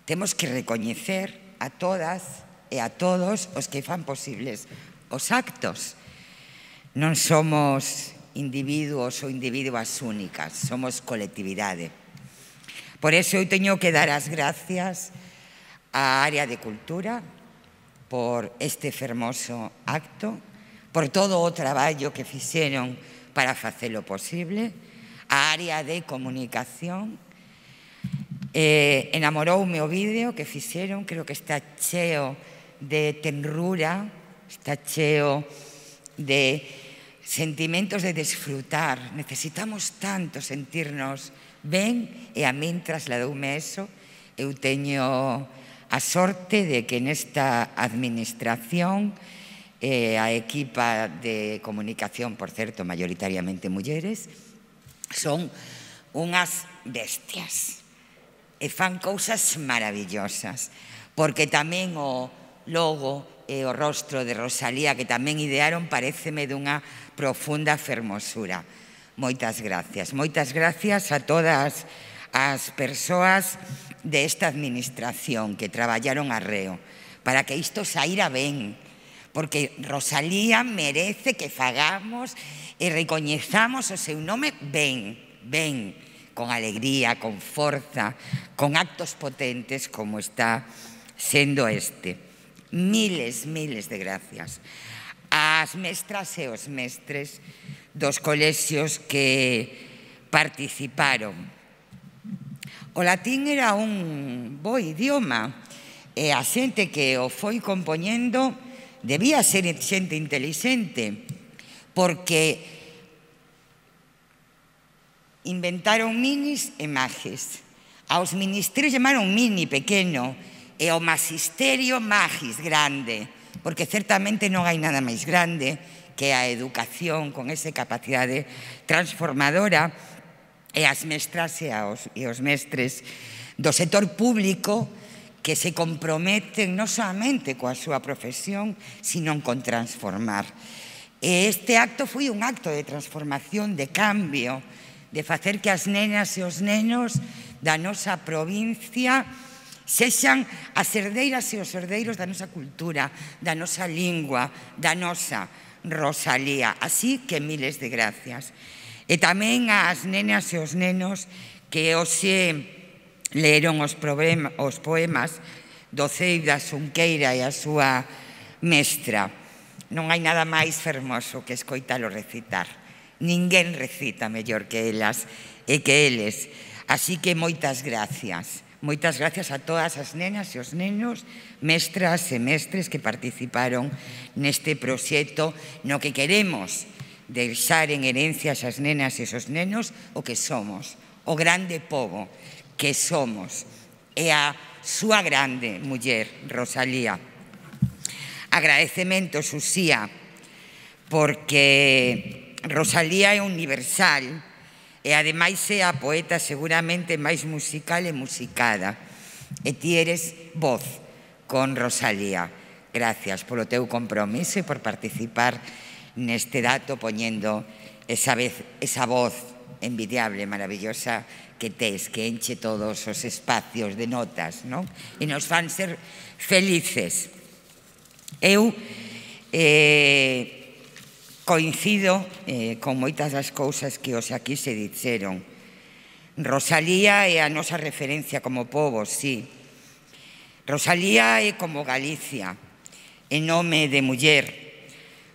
J: temos que recoñecer a todas e a todos os que fan posibles os actos. Non somos individuos ou individuas únicas, somos colectividade. Por eso eu teño que dar as gracias á área de cultura por este fermoso acto, por todo o traballo que fixeron para facelo posible, a área de comunicación. Eh, enamoroume o vídeo que fixeron, creo que está cheo de tenrura, está cheo de sentimentos de desfrutar. Necesitamos tanto sentirnos ben, e a min trasladoume eso. Eu teño a sorte de que nesta administración eh, a equipa de comunicación, por certo, mayoritariamente mulleres, son unhas bestias e fan cousas maravillosas, porque tamén o logo e o rostro de Rosalía, que tamén idearon, pareceme dunha profunda fermosura. Moitas gracias. Moitas gracias a todas as persoas desta administración que traballaron arreo para que isto saíra ben, porque Rosalía merece que fagamos e recoñezamos o seu nome ben, ben, con alegría, con forza, con actos potentes como está sendo este. Miles, miles de gracias ás mestras e os mestres dos colexios que participaron. O latín era un bo idioma e a xente que o foi compoñendo debía ser xente intelixente, porque inventaron minis e magis. Aos ministerios chamaron mini, pequeno, e ao magisterio magis, grande, porque certamente non hai nada máis grande que a educación con esa capacidade transformadora, e as mestras e os, e os mestres do sector público que se comprometen non solamente coa súa profesión, sino con transformar. E este acto foi un acto de transformación, de cambio, de facer que as nenas e os nenos da nosa provincia sexan as herdeiras e os herdeiros da nosa cultura, da nosa lingua, da nosa Rosalía. Así que miles de gracias. E tamén ás nenas e os nenos que hoxe leeron os, problema, os poemas do Ceida Xunqueira e a súa mestra. Non hai nada máis fermoso que escoitalo recitar. Ninguén recita mellor que elas e que eles. Así que moitas gracias. Moitas gracias a todas as nenas e os nenos, mestras e mestres que participaron neste proxecto no que queremos deixar en herencia as nenas e os nenos o que somos, o grande pobo que somos, e a súa grande muller, Rosalía. Agradecementos, Uxía, porque Rosalía é universal e ademais é a poeta seguramente máis musical e musicada. E ti eres voz con Rosalía. Gracias polo teu compromiso e por participar neste dato poñendo esa, vez, esa voz envidiable, maravillosa que tes, que enche todos os espacios de notas, non? E nos fan ser felices. Eu eh, coincido eh, con moitas das cousas que os aquí se dixeron. Rosalía é a nosa referencia como pobo, sí. Rosalía é como Galicia, en nome de muller.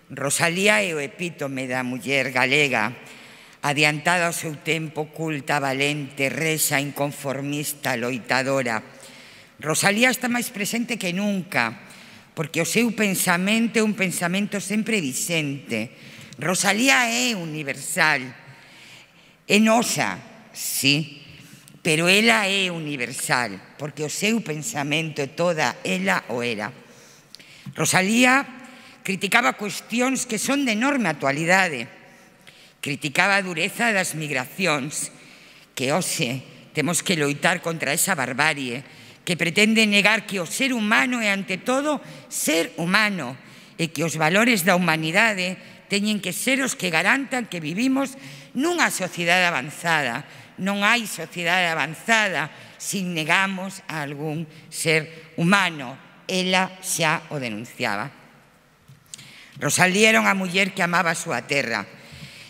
J: Rosalía é o epítome da muller galega, adiantada ao seu tempo, culta, valente, rexa, inconformista, loitadora. Rosalía está máis presente que nunca, porque o seu pensamento é un pensamento sempre vixente. Rosalía é universal, é nosa, sí, pero ela é universal, porque o seu pensamento é toda ela o era. Rosalía criticaba cuestións que son de enorme actualidade. Criticaba a dureza das migracións, que hoxe temos que loitar contra esa barbarie que pretende negar que o ser humano é, ante todo, ser humano e que os valores da humanidade teñen que ser os que garantan que vivimos nunha sociedade avanzada. Non hai sociedade avanzada se negamos a algún ser humano. Ela xa o denunciaba. Rosalía era unha muller que amaba a súa terra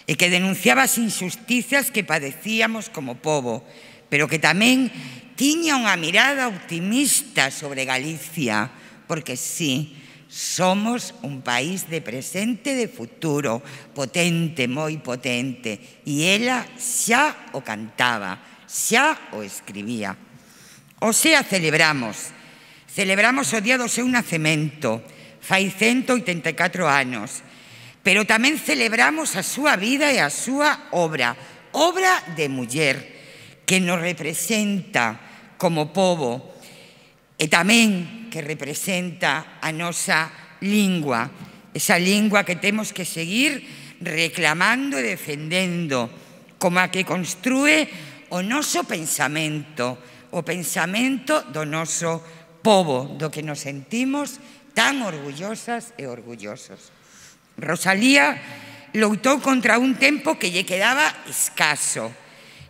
J: e que denunciaba as injusticias que padecíamos como pobo, pero que tamén tiña unha mirada optimista sobre Galicia, porque sí, somos un país de presente e de futuro, potente, moi potente, e ela xa o cantaba, xa o escribía. O sea, celebramos, celebramos o día do seu nacemento, fai ciento oitenta e catro anos, pero tamén celebramos a súa vida e a súa obra, obra de muller, que nos representa como pobo e tamén que representa a nosa lingua, esa lingua que temos que seguir reclamando e defendendo, como a que construe o noso pensamento, o pensamento do noso pobo, do que nos sentimos tan orgullosas e orgullosos. Rosalía loitou contra un tempo que lle quedaba escaso.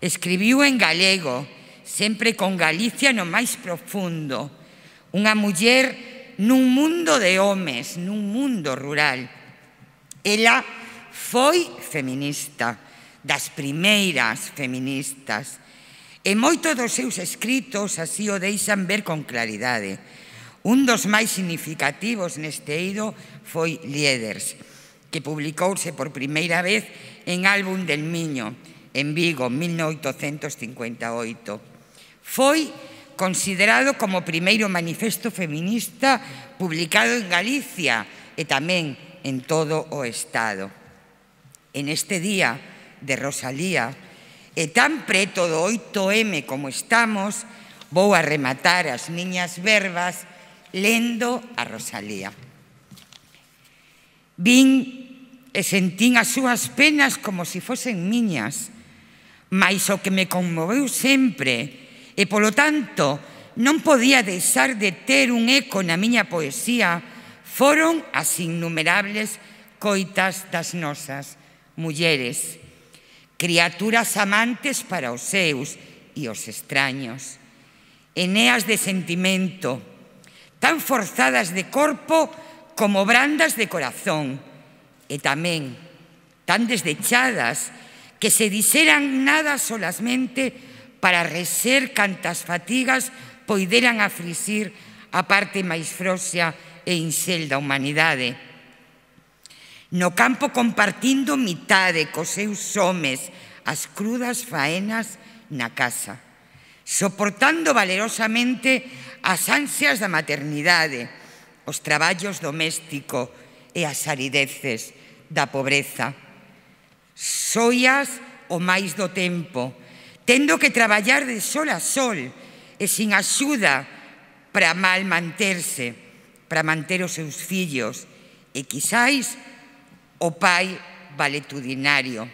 J: Escribiu en galego, sempre con Galicia no máis profundo. Unha muller nun mundo de homes, nun mundo rural. Ela foi feminista, das primeiras feministas. E moitos dos seus escritos así o deixan ver con claridade. Un dos máis significativos neste eido foi Lieders, que publicouse por primeira vez en Álbum del Miño, en Vigo, mil novecentos cincuenta e oito. Foi considerado como o primeiro manifesto feminista publicado en Galicia e tamén en todo o Estado. En este día de Rosalía, e tan preto do oito eme como estamos, vou a rematar as miñas verbas lendo a Rosalía. Vin e sentín as súas penas como se fosen miñas, mais o que me conmoveu sempre, e polo tanto non podía deixar de ter un eco na miña poesía, foron as innumerables coitas das nosas mulleres, criaturas amantes para os seus e os extraños, eneas de sentimento, tan forzadas de corpo como brandas de corazón, e tamén tan desdechadas que se dixeran nada solasmente para reser cantas fatigas poideran aflixir a parte máis froxa e inxel da humanidade. No campo compartindo mitade cos seus homes as crudas faenas na casa, soportando valerosamente as ansias da maternidade, os traballos domésticos e as arideces da pobreza. Soias o máis do tempo, tendo que traballar de sol a sol e sin axuda para mal manterse, para manter os seus fillos, e quizáis o pai valetudinario.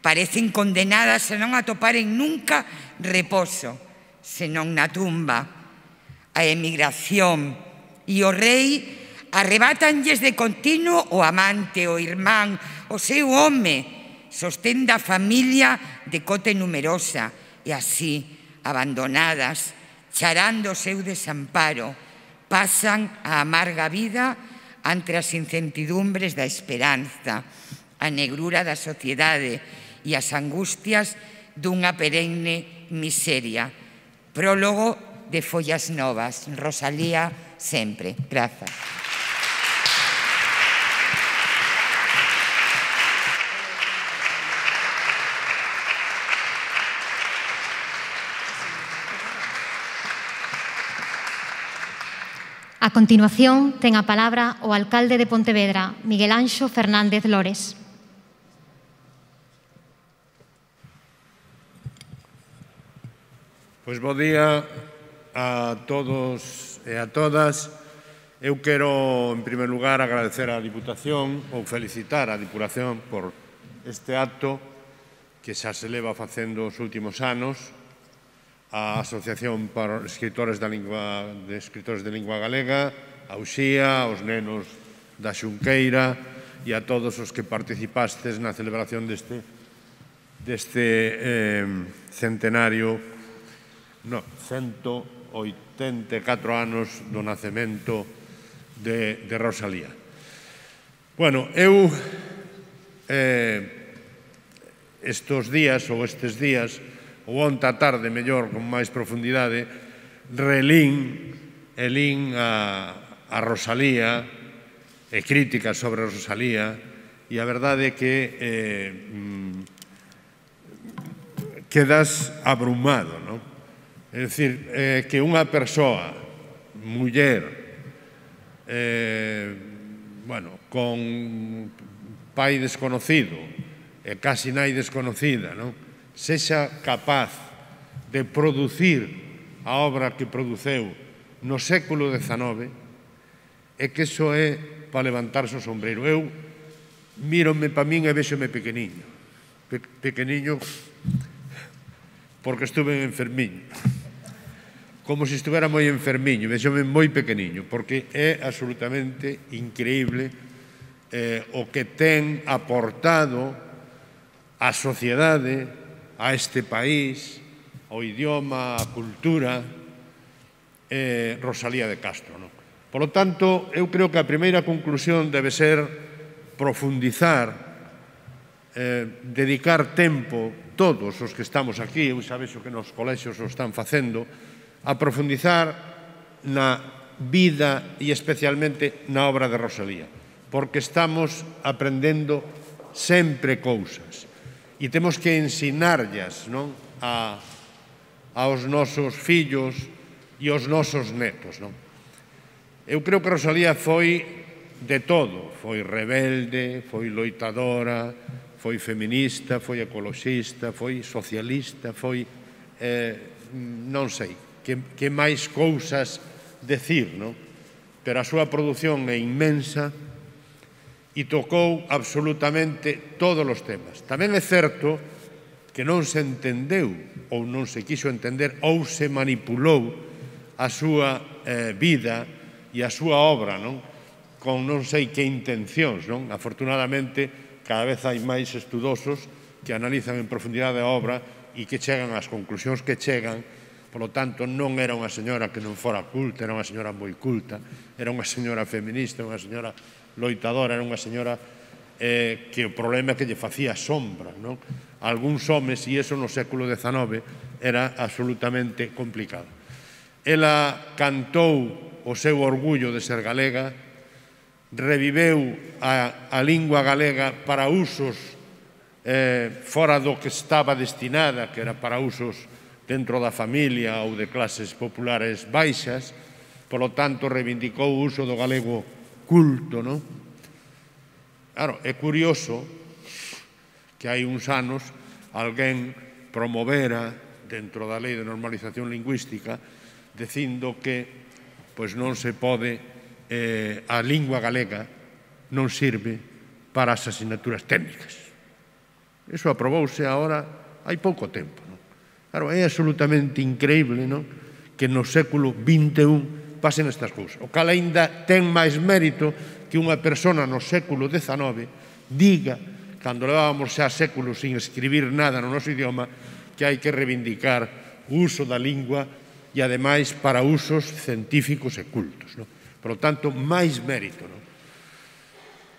J: Parecen condenadas a non atoparen nunca reposo, senón na tumba. A emigración e o rei arrebátanlles de continuo o amante, o irmán, o seu home, sostén da familia de cote numerosa, e así, abandonadas, charando o seu desamparo, pasan a amarga vida ante as incertidumbres da esperanza, a negrura da sociedade e as angustias dunha perenne miseria. Prólogo de Follas Novas. Rosalía sempre. Grazas.
A: A continuación, ten a palabra o alcalde de Pontevedra, Miguel Anxo Fernández Lores.
K: Pois bo día a todos e a todas. Eu quero, en primer lugar, agradecer á Diputación ou felicitar a Diputación por este acto que xa se leva facendo os últimos anos, a Asociación para Escritores da Lingua, de Escritores de Lingua Galega, a Uxía, aos nenos da Xunqueira e a todos os que participastes na celebración deste, deste eh, centenario, no, cento oitenta e catro anos do nacemento de, de Rosalía. Bueno, eu eh, estes días ou estes días ou onta tarde, mellor, con máis profundidade, relín e lín a, a Rosalía e críticas sobre Rosalía, e a verdade é que eh, quedas abrumado, non? É dicir, eh, que unha persoa, muller, eh, bueno, con pai desconocido e casi nai desconocida, non? Sexa capaz de producir a obra que produceu no século dezanove, é que iso é para levantarse o sombreiro. Eu mírome pa min e véxome pequeniño. Pe pequeniño porque estuve enfermiño. Como se estuvera moi enfermiño, véxome moi pequeniño, porque é absolutamente increíble eh, o que ten aportado a sociedade, a este país, ao idioma, a cultura, eh, Rosalía de Castro. Non? Por lo tanto, eu creo que a primeira conclusión debe ser profundizar, eh, dedicar tempo, todos os que estamos aquí, eu xa vexo que nos colexios o están facendo, a profundizar na vida e especialmente na obra de Rosalía, porque estamos aprendendo sempre cousas. E temos que ensinarllas, non? A, aos nosos fillos e aos nosos netos, non? Eu creo que Rosalía foi de todo. Foi rebelde, foi loitadora, foi feminista, foi ecoloxista, foi socialista, foi, eh, non sei, que, que máis cousas decir, non? Pero a súa produción é inmensa e tocou absolutamente todos os temas. Tamén é certo que non se entendeu ou non se quiso entender ou se manipulou a súa eh, vida e a súa obra, non? Con non sei que intencións, non? Afortunadamente, cada vez hai máis estudosos que analizan en profundidade a obra e que chegan ás conclusións que chegan. Por lo tanto, non era unha señora que non fora culta, era unha señora moi culta, era unha señora feminista, unha señora loitadora, era unha señora eh, que o problema é que lle facía sombra, non? Algúns homes, e iso no século dezanove, era absolutamente complicado. Ela cantou o seu orgullo de ser galega, reviveu a, a lingua galega para usos eh, fora do que estaba destinada, que era para usos dentro da familia ou de clases populares baixas, polo tanto, reivindicou o uso do galego culto, non? Claro, é curioso que hai uns anos alguén promovera dentro da Lei de Normalización Lingüística dicindo que pois non se pode, eh, a lingua galega non sirve para as asignaturas técnicas. Iso aprobouse agora hai pouco tempo. Non? Claro, é absolutamente increíble, non? Que no século vinte e un pasen estas cousas. O cal ainda ten máis mérito que unha persona no século dezanove diga, cando levábamos xa séculos sin escribir nada no noso idioma, que hai que reivindicar o uso da lingua e, ademais, para usos científicos e cultos. Non? Por lo tanto, máis mérito. Non?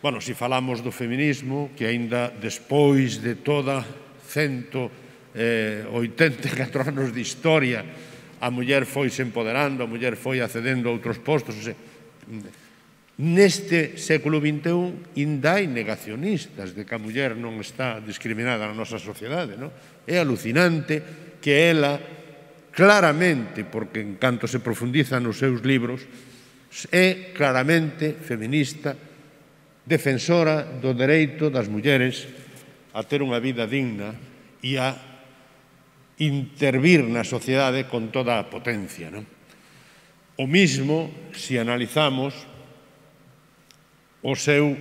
K: Bueno, se falamos do feminismo, que aínda despois de toda cento oitenta e catro anos de historia, a muller foi se empoderando, a muller foi accedendo a outros postos. Neste século vinte e un, ainda hai negacionistas de que a muller non está discriminada na nosa sociedade. Non? É alucinante que ela, claramente, porque en canto se profundiza nos seus libros, é claramente feminista, defensora do dereito das mulleres a ter unha vida digna e a intervir na sociedade con toda a potencia. Non? O mismo, se analizamos o seu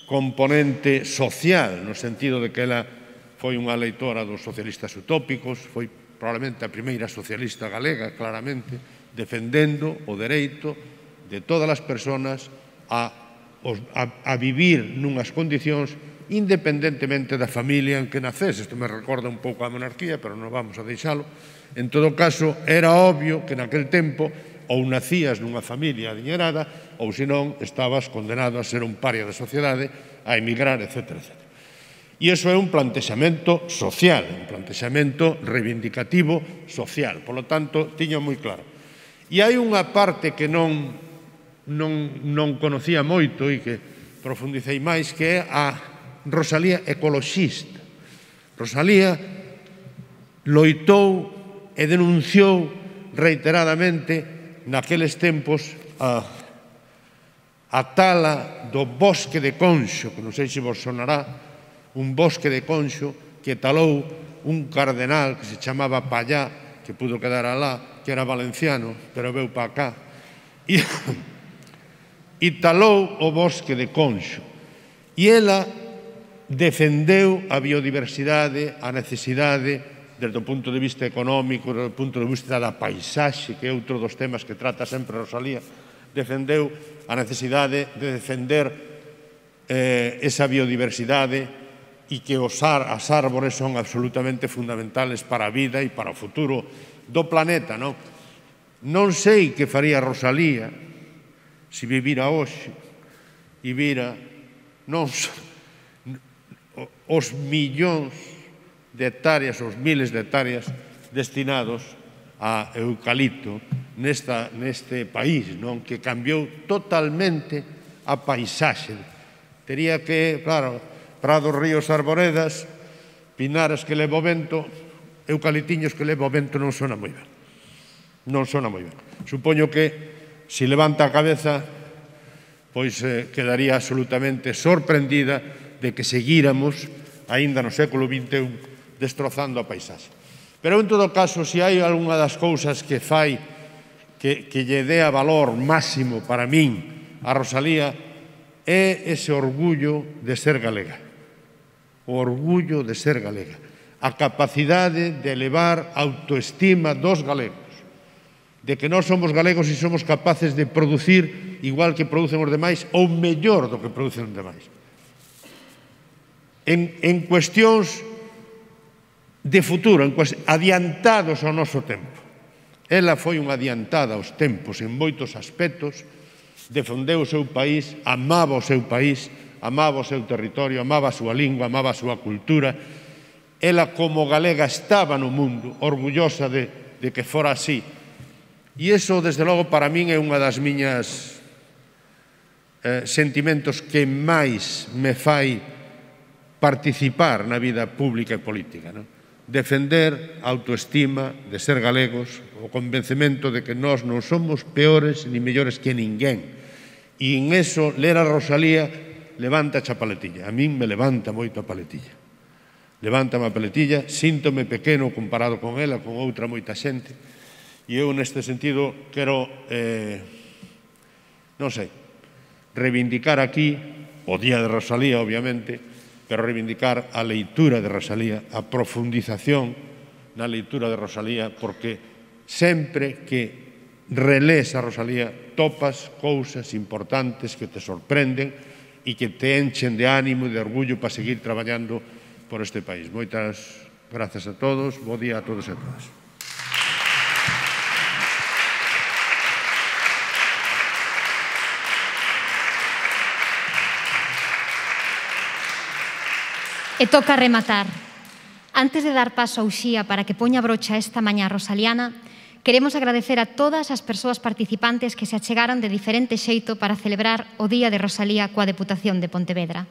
K: componente social, no sentido de que ela foi unha leitora dos socialistas utópicos, foi probablemente a primeira socialista galega, claramente, defendendo o dereito de todas as persoas a, a, a vivir nunhas condicións independentemente da familia en que nacese. Isto me recorda un pouco a monarquía, pero non vamos a deixalo. En todo caso, era obvio que naquel tempo ou nacías nunha familia adiñerada ou, senón, estabas condenado a ser un paria da sociedade, a emigrar, etcétera, etcétera. E iso é un plantexamento social, un plantexamento reivindicativo social. Por lo tanto, tiño moi claro. E hai unha parte que non, non, non conocía moito e que profundicei máis, que é a Rosalía ecoloxista. Rosalía loitou e denunciou reiteradamente naqueles tempos a, a tala do bosque de Conxo, que non sei se vos sonará, un bosque de Conxo que talou un cardenal que se chamaba Pallá, que pudo quedar alá, que era valenciano, pero veu pa cá, e, e talou o bosque de Conxo. E ela defendeu a biodiversidade, a necesidade, desde o punto de vista económico, desde o punto de vista da paisaxe, que é outro dos temas que trata sempre Rosalía, defendeu a necesidade de defender eh, esa biodiversidade e que os ar, as árbores son absolutamente fundamentales para a vida e para o futuro do planeta. Non, non sei que faría Rosalía se vivira hoxe e vira non os millóns de hectáreas, os miles de hectáreas destinados a eucalipto nesta, neste país, non? Que cambiou totalmente a paisaxe. Tería que, claro, prados, ríos, arboredas, pinares que leva o vento, eucaliptiños que leva o vento, non sona moi ben. Non sona moi ben. Supoño que, se levanta a cabeza, pois eh, quedaría absolutamente sorprendida de que seguíramos, aínda no século vinte e un, destrozando a paisaxe. Pero, en todo caso, se hai algunha das cousas que fai que, que lle dea valor máximo para min a Rosalía, é ese orgullo de ser galega. O orgullo de ser galega. A capacidade de elevar a autoestima dos galegos. De que nós somos galegos e somos capaces de producir igual que producen os demais ou mellor do que producen os demais. En, en cuestións de futuro, en cuestións adiantados ao noso tempo. Ela foi unha adiantada aos tempos en moitos aspectos, defendeu o seu país, amaba o seu país, amaba o seu territorio, amaba a súa lingua, amaba a súa cultura. Ela, como galega, estaba no mundo, orgullosa de, de que fora así. E iso, desde logo, para min é unha das miñas eh, sentimentos que máis me fai participar na vida pública e política. Non? Defender a autoestima de ser galegos, o convencemento de que nós non somos peores ni mellores que ninguén. E en eso, ler a Rosalía levanta a paletilla. A min me levanta moito a paletilla. Levanta a paletilla, síntome pequeno comparado con ela, con outra moita xente. E eu, neste sentido, quero, eh, non sei, reivindicar aquí o Día de Rosalía, obviamente, pero reivindicar a leitura de Rosalía, a profundización na leitura de Rosalía, porque sempre que relés a Rosalía topas cousas importantes que te sorprenden e que te enchen de ánimo e de orgullo para seguir traballando por este país. Moitas grazas a todos, bo día a todos e a todas.
A: E toca rematar. Antes de dar paso a Uxía para que poña brocha esta mañá rosaliana, queremos agradecer a todas as persoas participantes que se achegaron de diferente xeito para celebrar o Día de Rosalía coa Deputación de Pontevedra.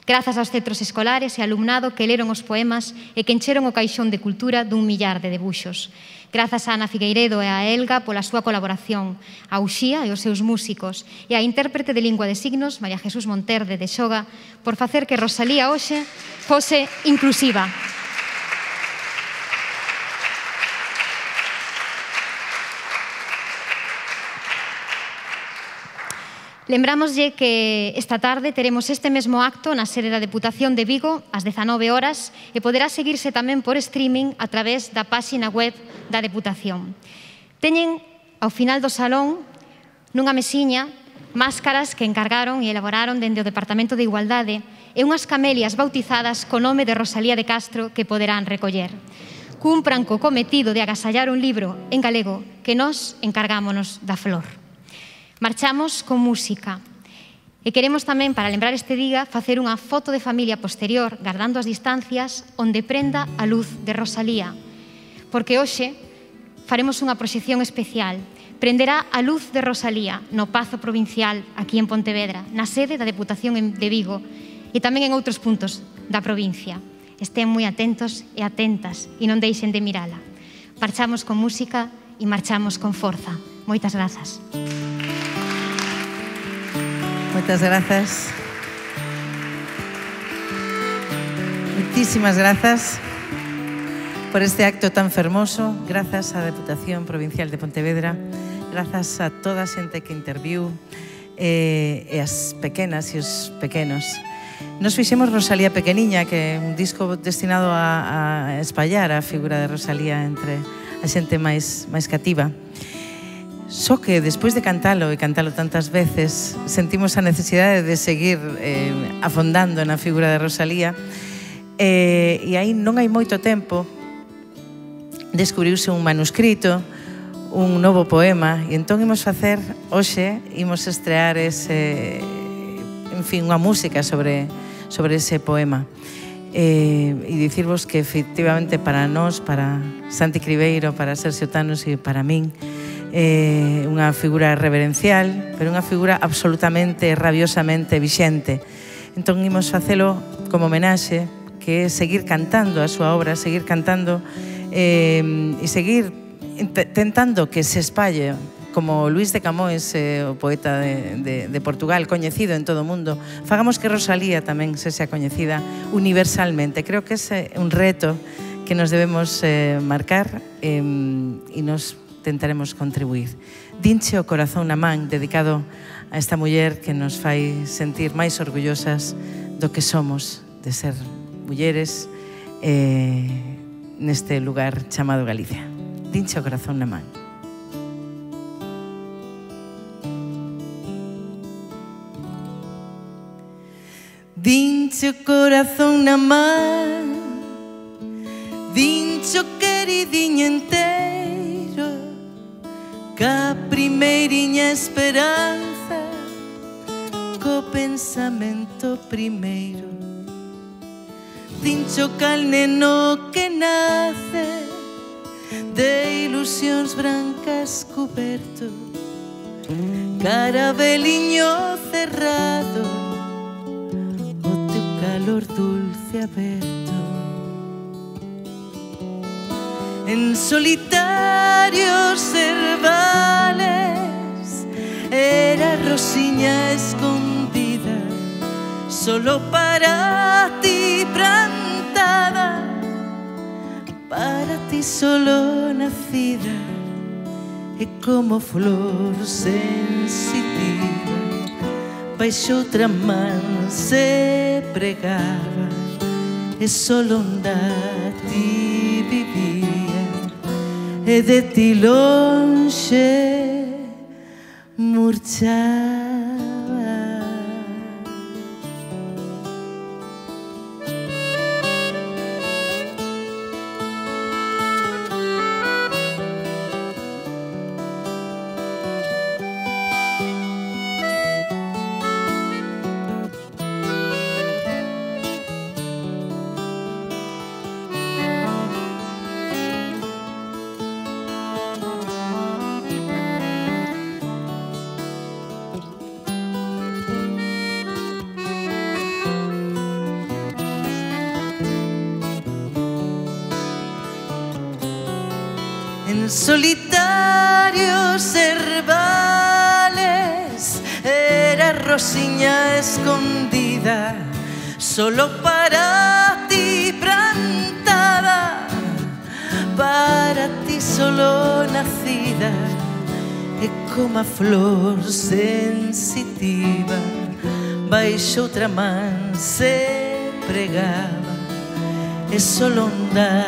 A: Grazas aos centros escolares e alumnado que leron os poemas e que encheron o caixón de cultura dun millar de debuxos. Grazas a Ana Figueiredo e a Elga pola súa colaboración, a Uxía e os seus músicos, e a intérprete de lingua de signos, María Jesús Monterde de Xoga, por facer que Rosalía hoxe fose inclusiva. Lembrámoslle que esta tarde teremos este mesmo acto na sede da Deputación de Vigo ás dezanove horas e poderá seguirse tamén por streaming a través da páxina web da Deputación. Teñen ao final do salón, nunha mesiña, máscaras que encargaron e elaboraron dende o Departamento de Igualdade e unhas camelias bautizadas co nome de Rosalía de Castro que poderán recoller. Cumpran co cometido de agasallar un libro en galego que nós encargámonos da flor. Marchamos con música e queremos tamén, para lembrar este día, facer unha foto de familia posterior, guardando as distancias, onde prenda a luz de Rosalía. Porque hoxe faremos unha proxección especial. Prenderá a luz de Rosalía no Pazo Provincial, aquí en Pontevedra, na sede da Deputación de Vigo e tamén en outros puntos da provincia. Estén moi atentos e atentas e non deixen de mirala. Marchamos con música e marchamos con forza. Moitas grazas.
B: Moitas grazas. Moitísimas grazas por este acto tan fermoso. Grazas á Deputación Provincial de Pontevedra. Grazas a toda a xente que interviu e, e as pequenas e os pequenos. Nos fixemos Rosalía Pequeniña, que é un disco destinado a, a espallar a figura de Rosalía entre a xente máis, máis cativa. Só que despois de cantalo e cantalo tantas veces sentimos a necesidade de seguir eh, afondando na figura de Rosalía eh, e aí non hai moito tempo descubriuse un manuscrito, un novo poema e entón imos facer hoxe, imos estrear ese, en fin, unha música sobre, sobre ese poema eh, e dicirvos que efectivamente para nós, para Santi Cribeiro, para Sergio Tanos e para min Eh, unha figura reverencial, pero unha figura absolutamente, rabiosamente vixente. Entón, imos facelo como homenaxe, que é seguir cantando a súa obra, seguir cantando eh, e seguir tentando que se espalle, como Luís de Camões, eh, o poeta de, de, de Portugal, coñecido en todo o mundo. Fagamos que Rosalía tamén se sea coñecida universalmente. Creo que ese é un reto que nos debemos eh, marcar eh, e nos tentaremos contribuir. Dinche o corazón na man, dedicado a esta muller que nos fai sentir máis orgullosas do que somos de ser mulleres eh, neste lugar chamado Galicia. Dinche o corazón na man. Dinche o corazón na man, dinche o queridiño entero, ca primeiriña esperanza, co pensamento primeiro. Dincho cal neno que nace de ilusións brancas coberto, carabeliño cerrado, o teu calor dulce aberto. En solitarios cervales era Rosiña escondida, solo para ti plantada, para ti solo nacida, e como flor sensitiva baixo outra man se pregaba e solo onda ti vivía e de ti lonxe murchaba. En solitarios herbales era Rosiña escondida, solo para ti plantada, para ti solo nacida, e como a flor sensitiva baixo outra man se pregaba e solo onda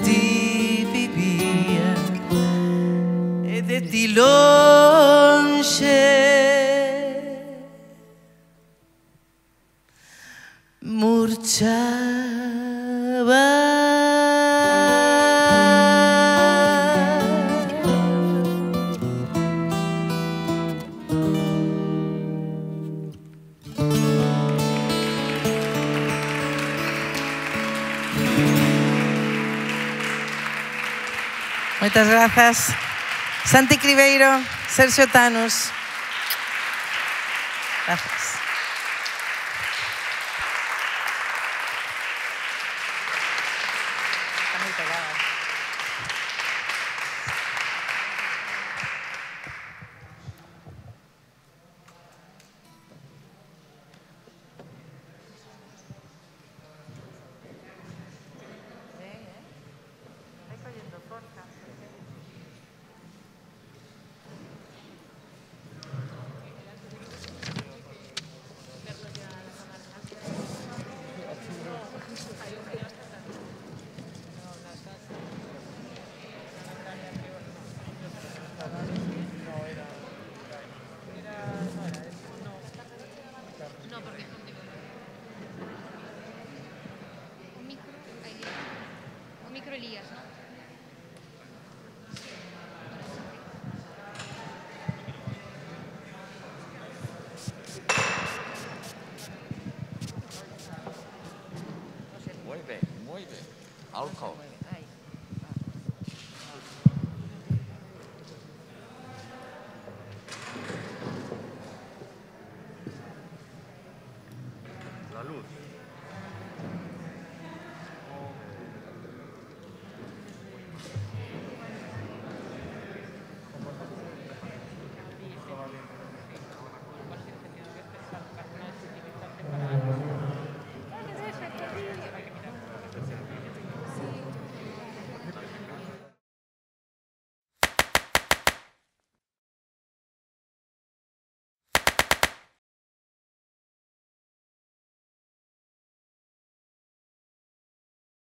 B: ti vivía e de ti lonxe murchaba. Moitas grazas. Santi Cribeiro, Sergio Tanus. Gracias. Está moi pegada.
L: Muy bien, muy bien. Alcohol.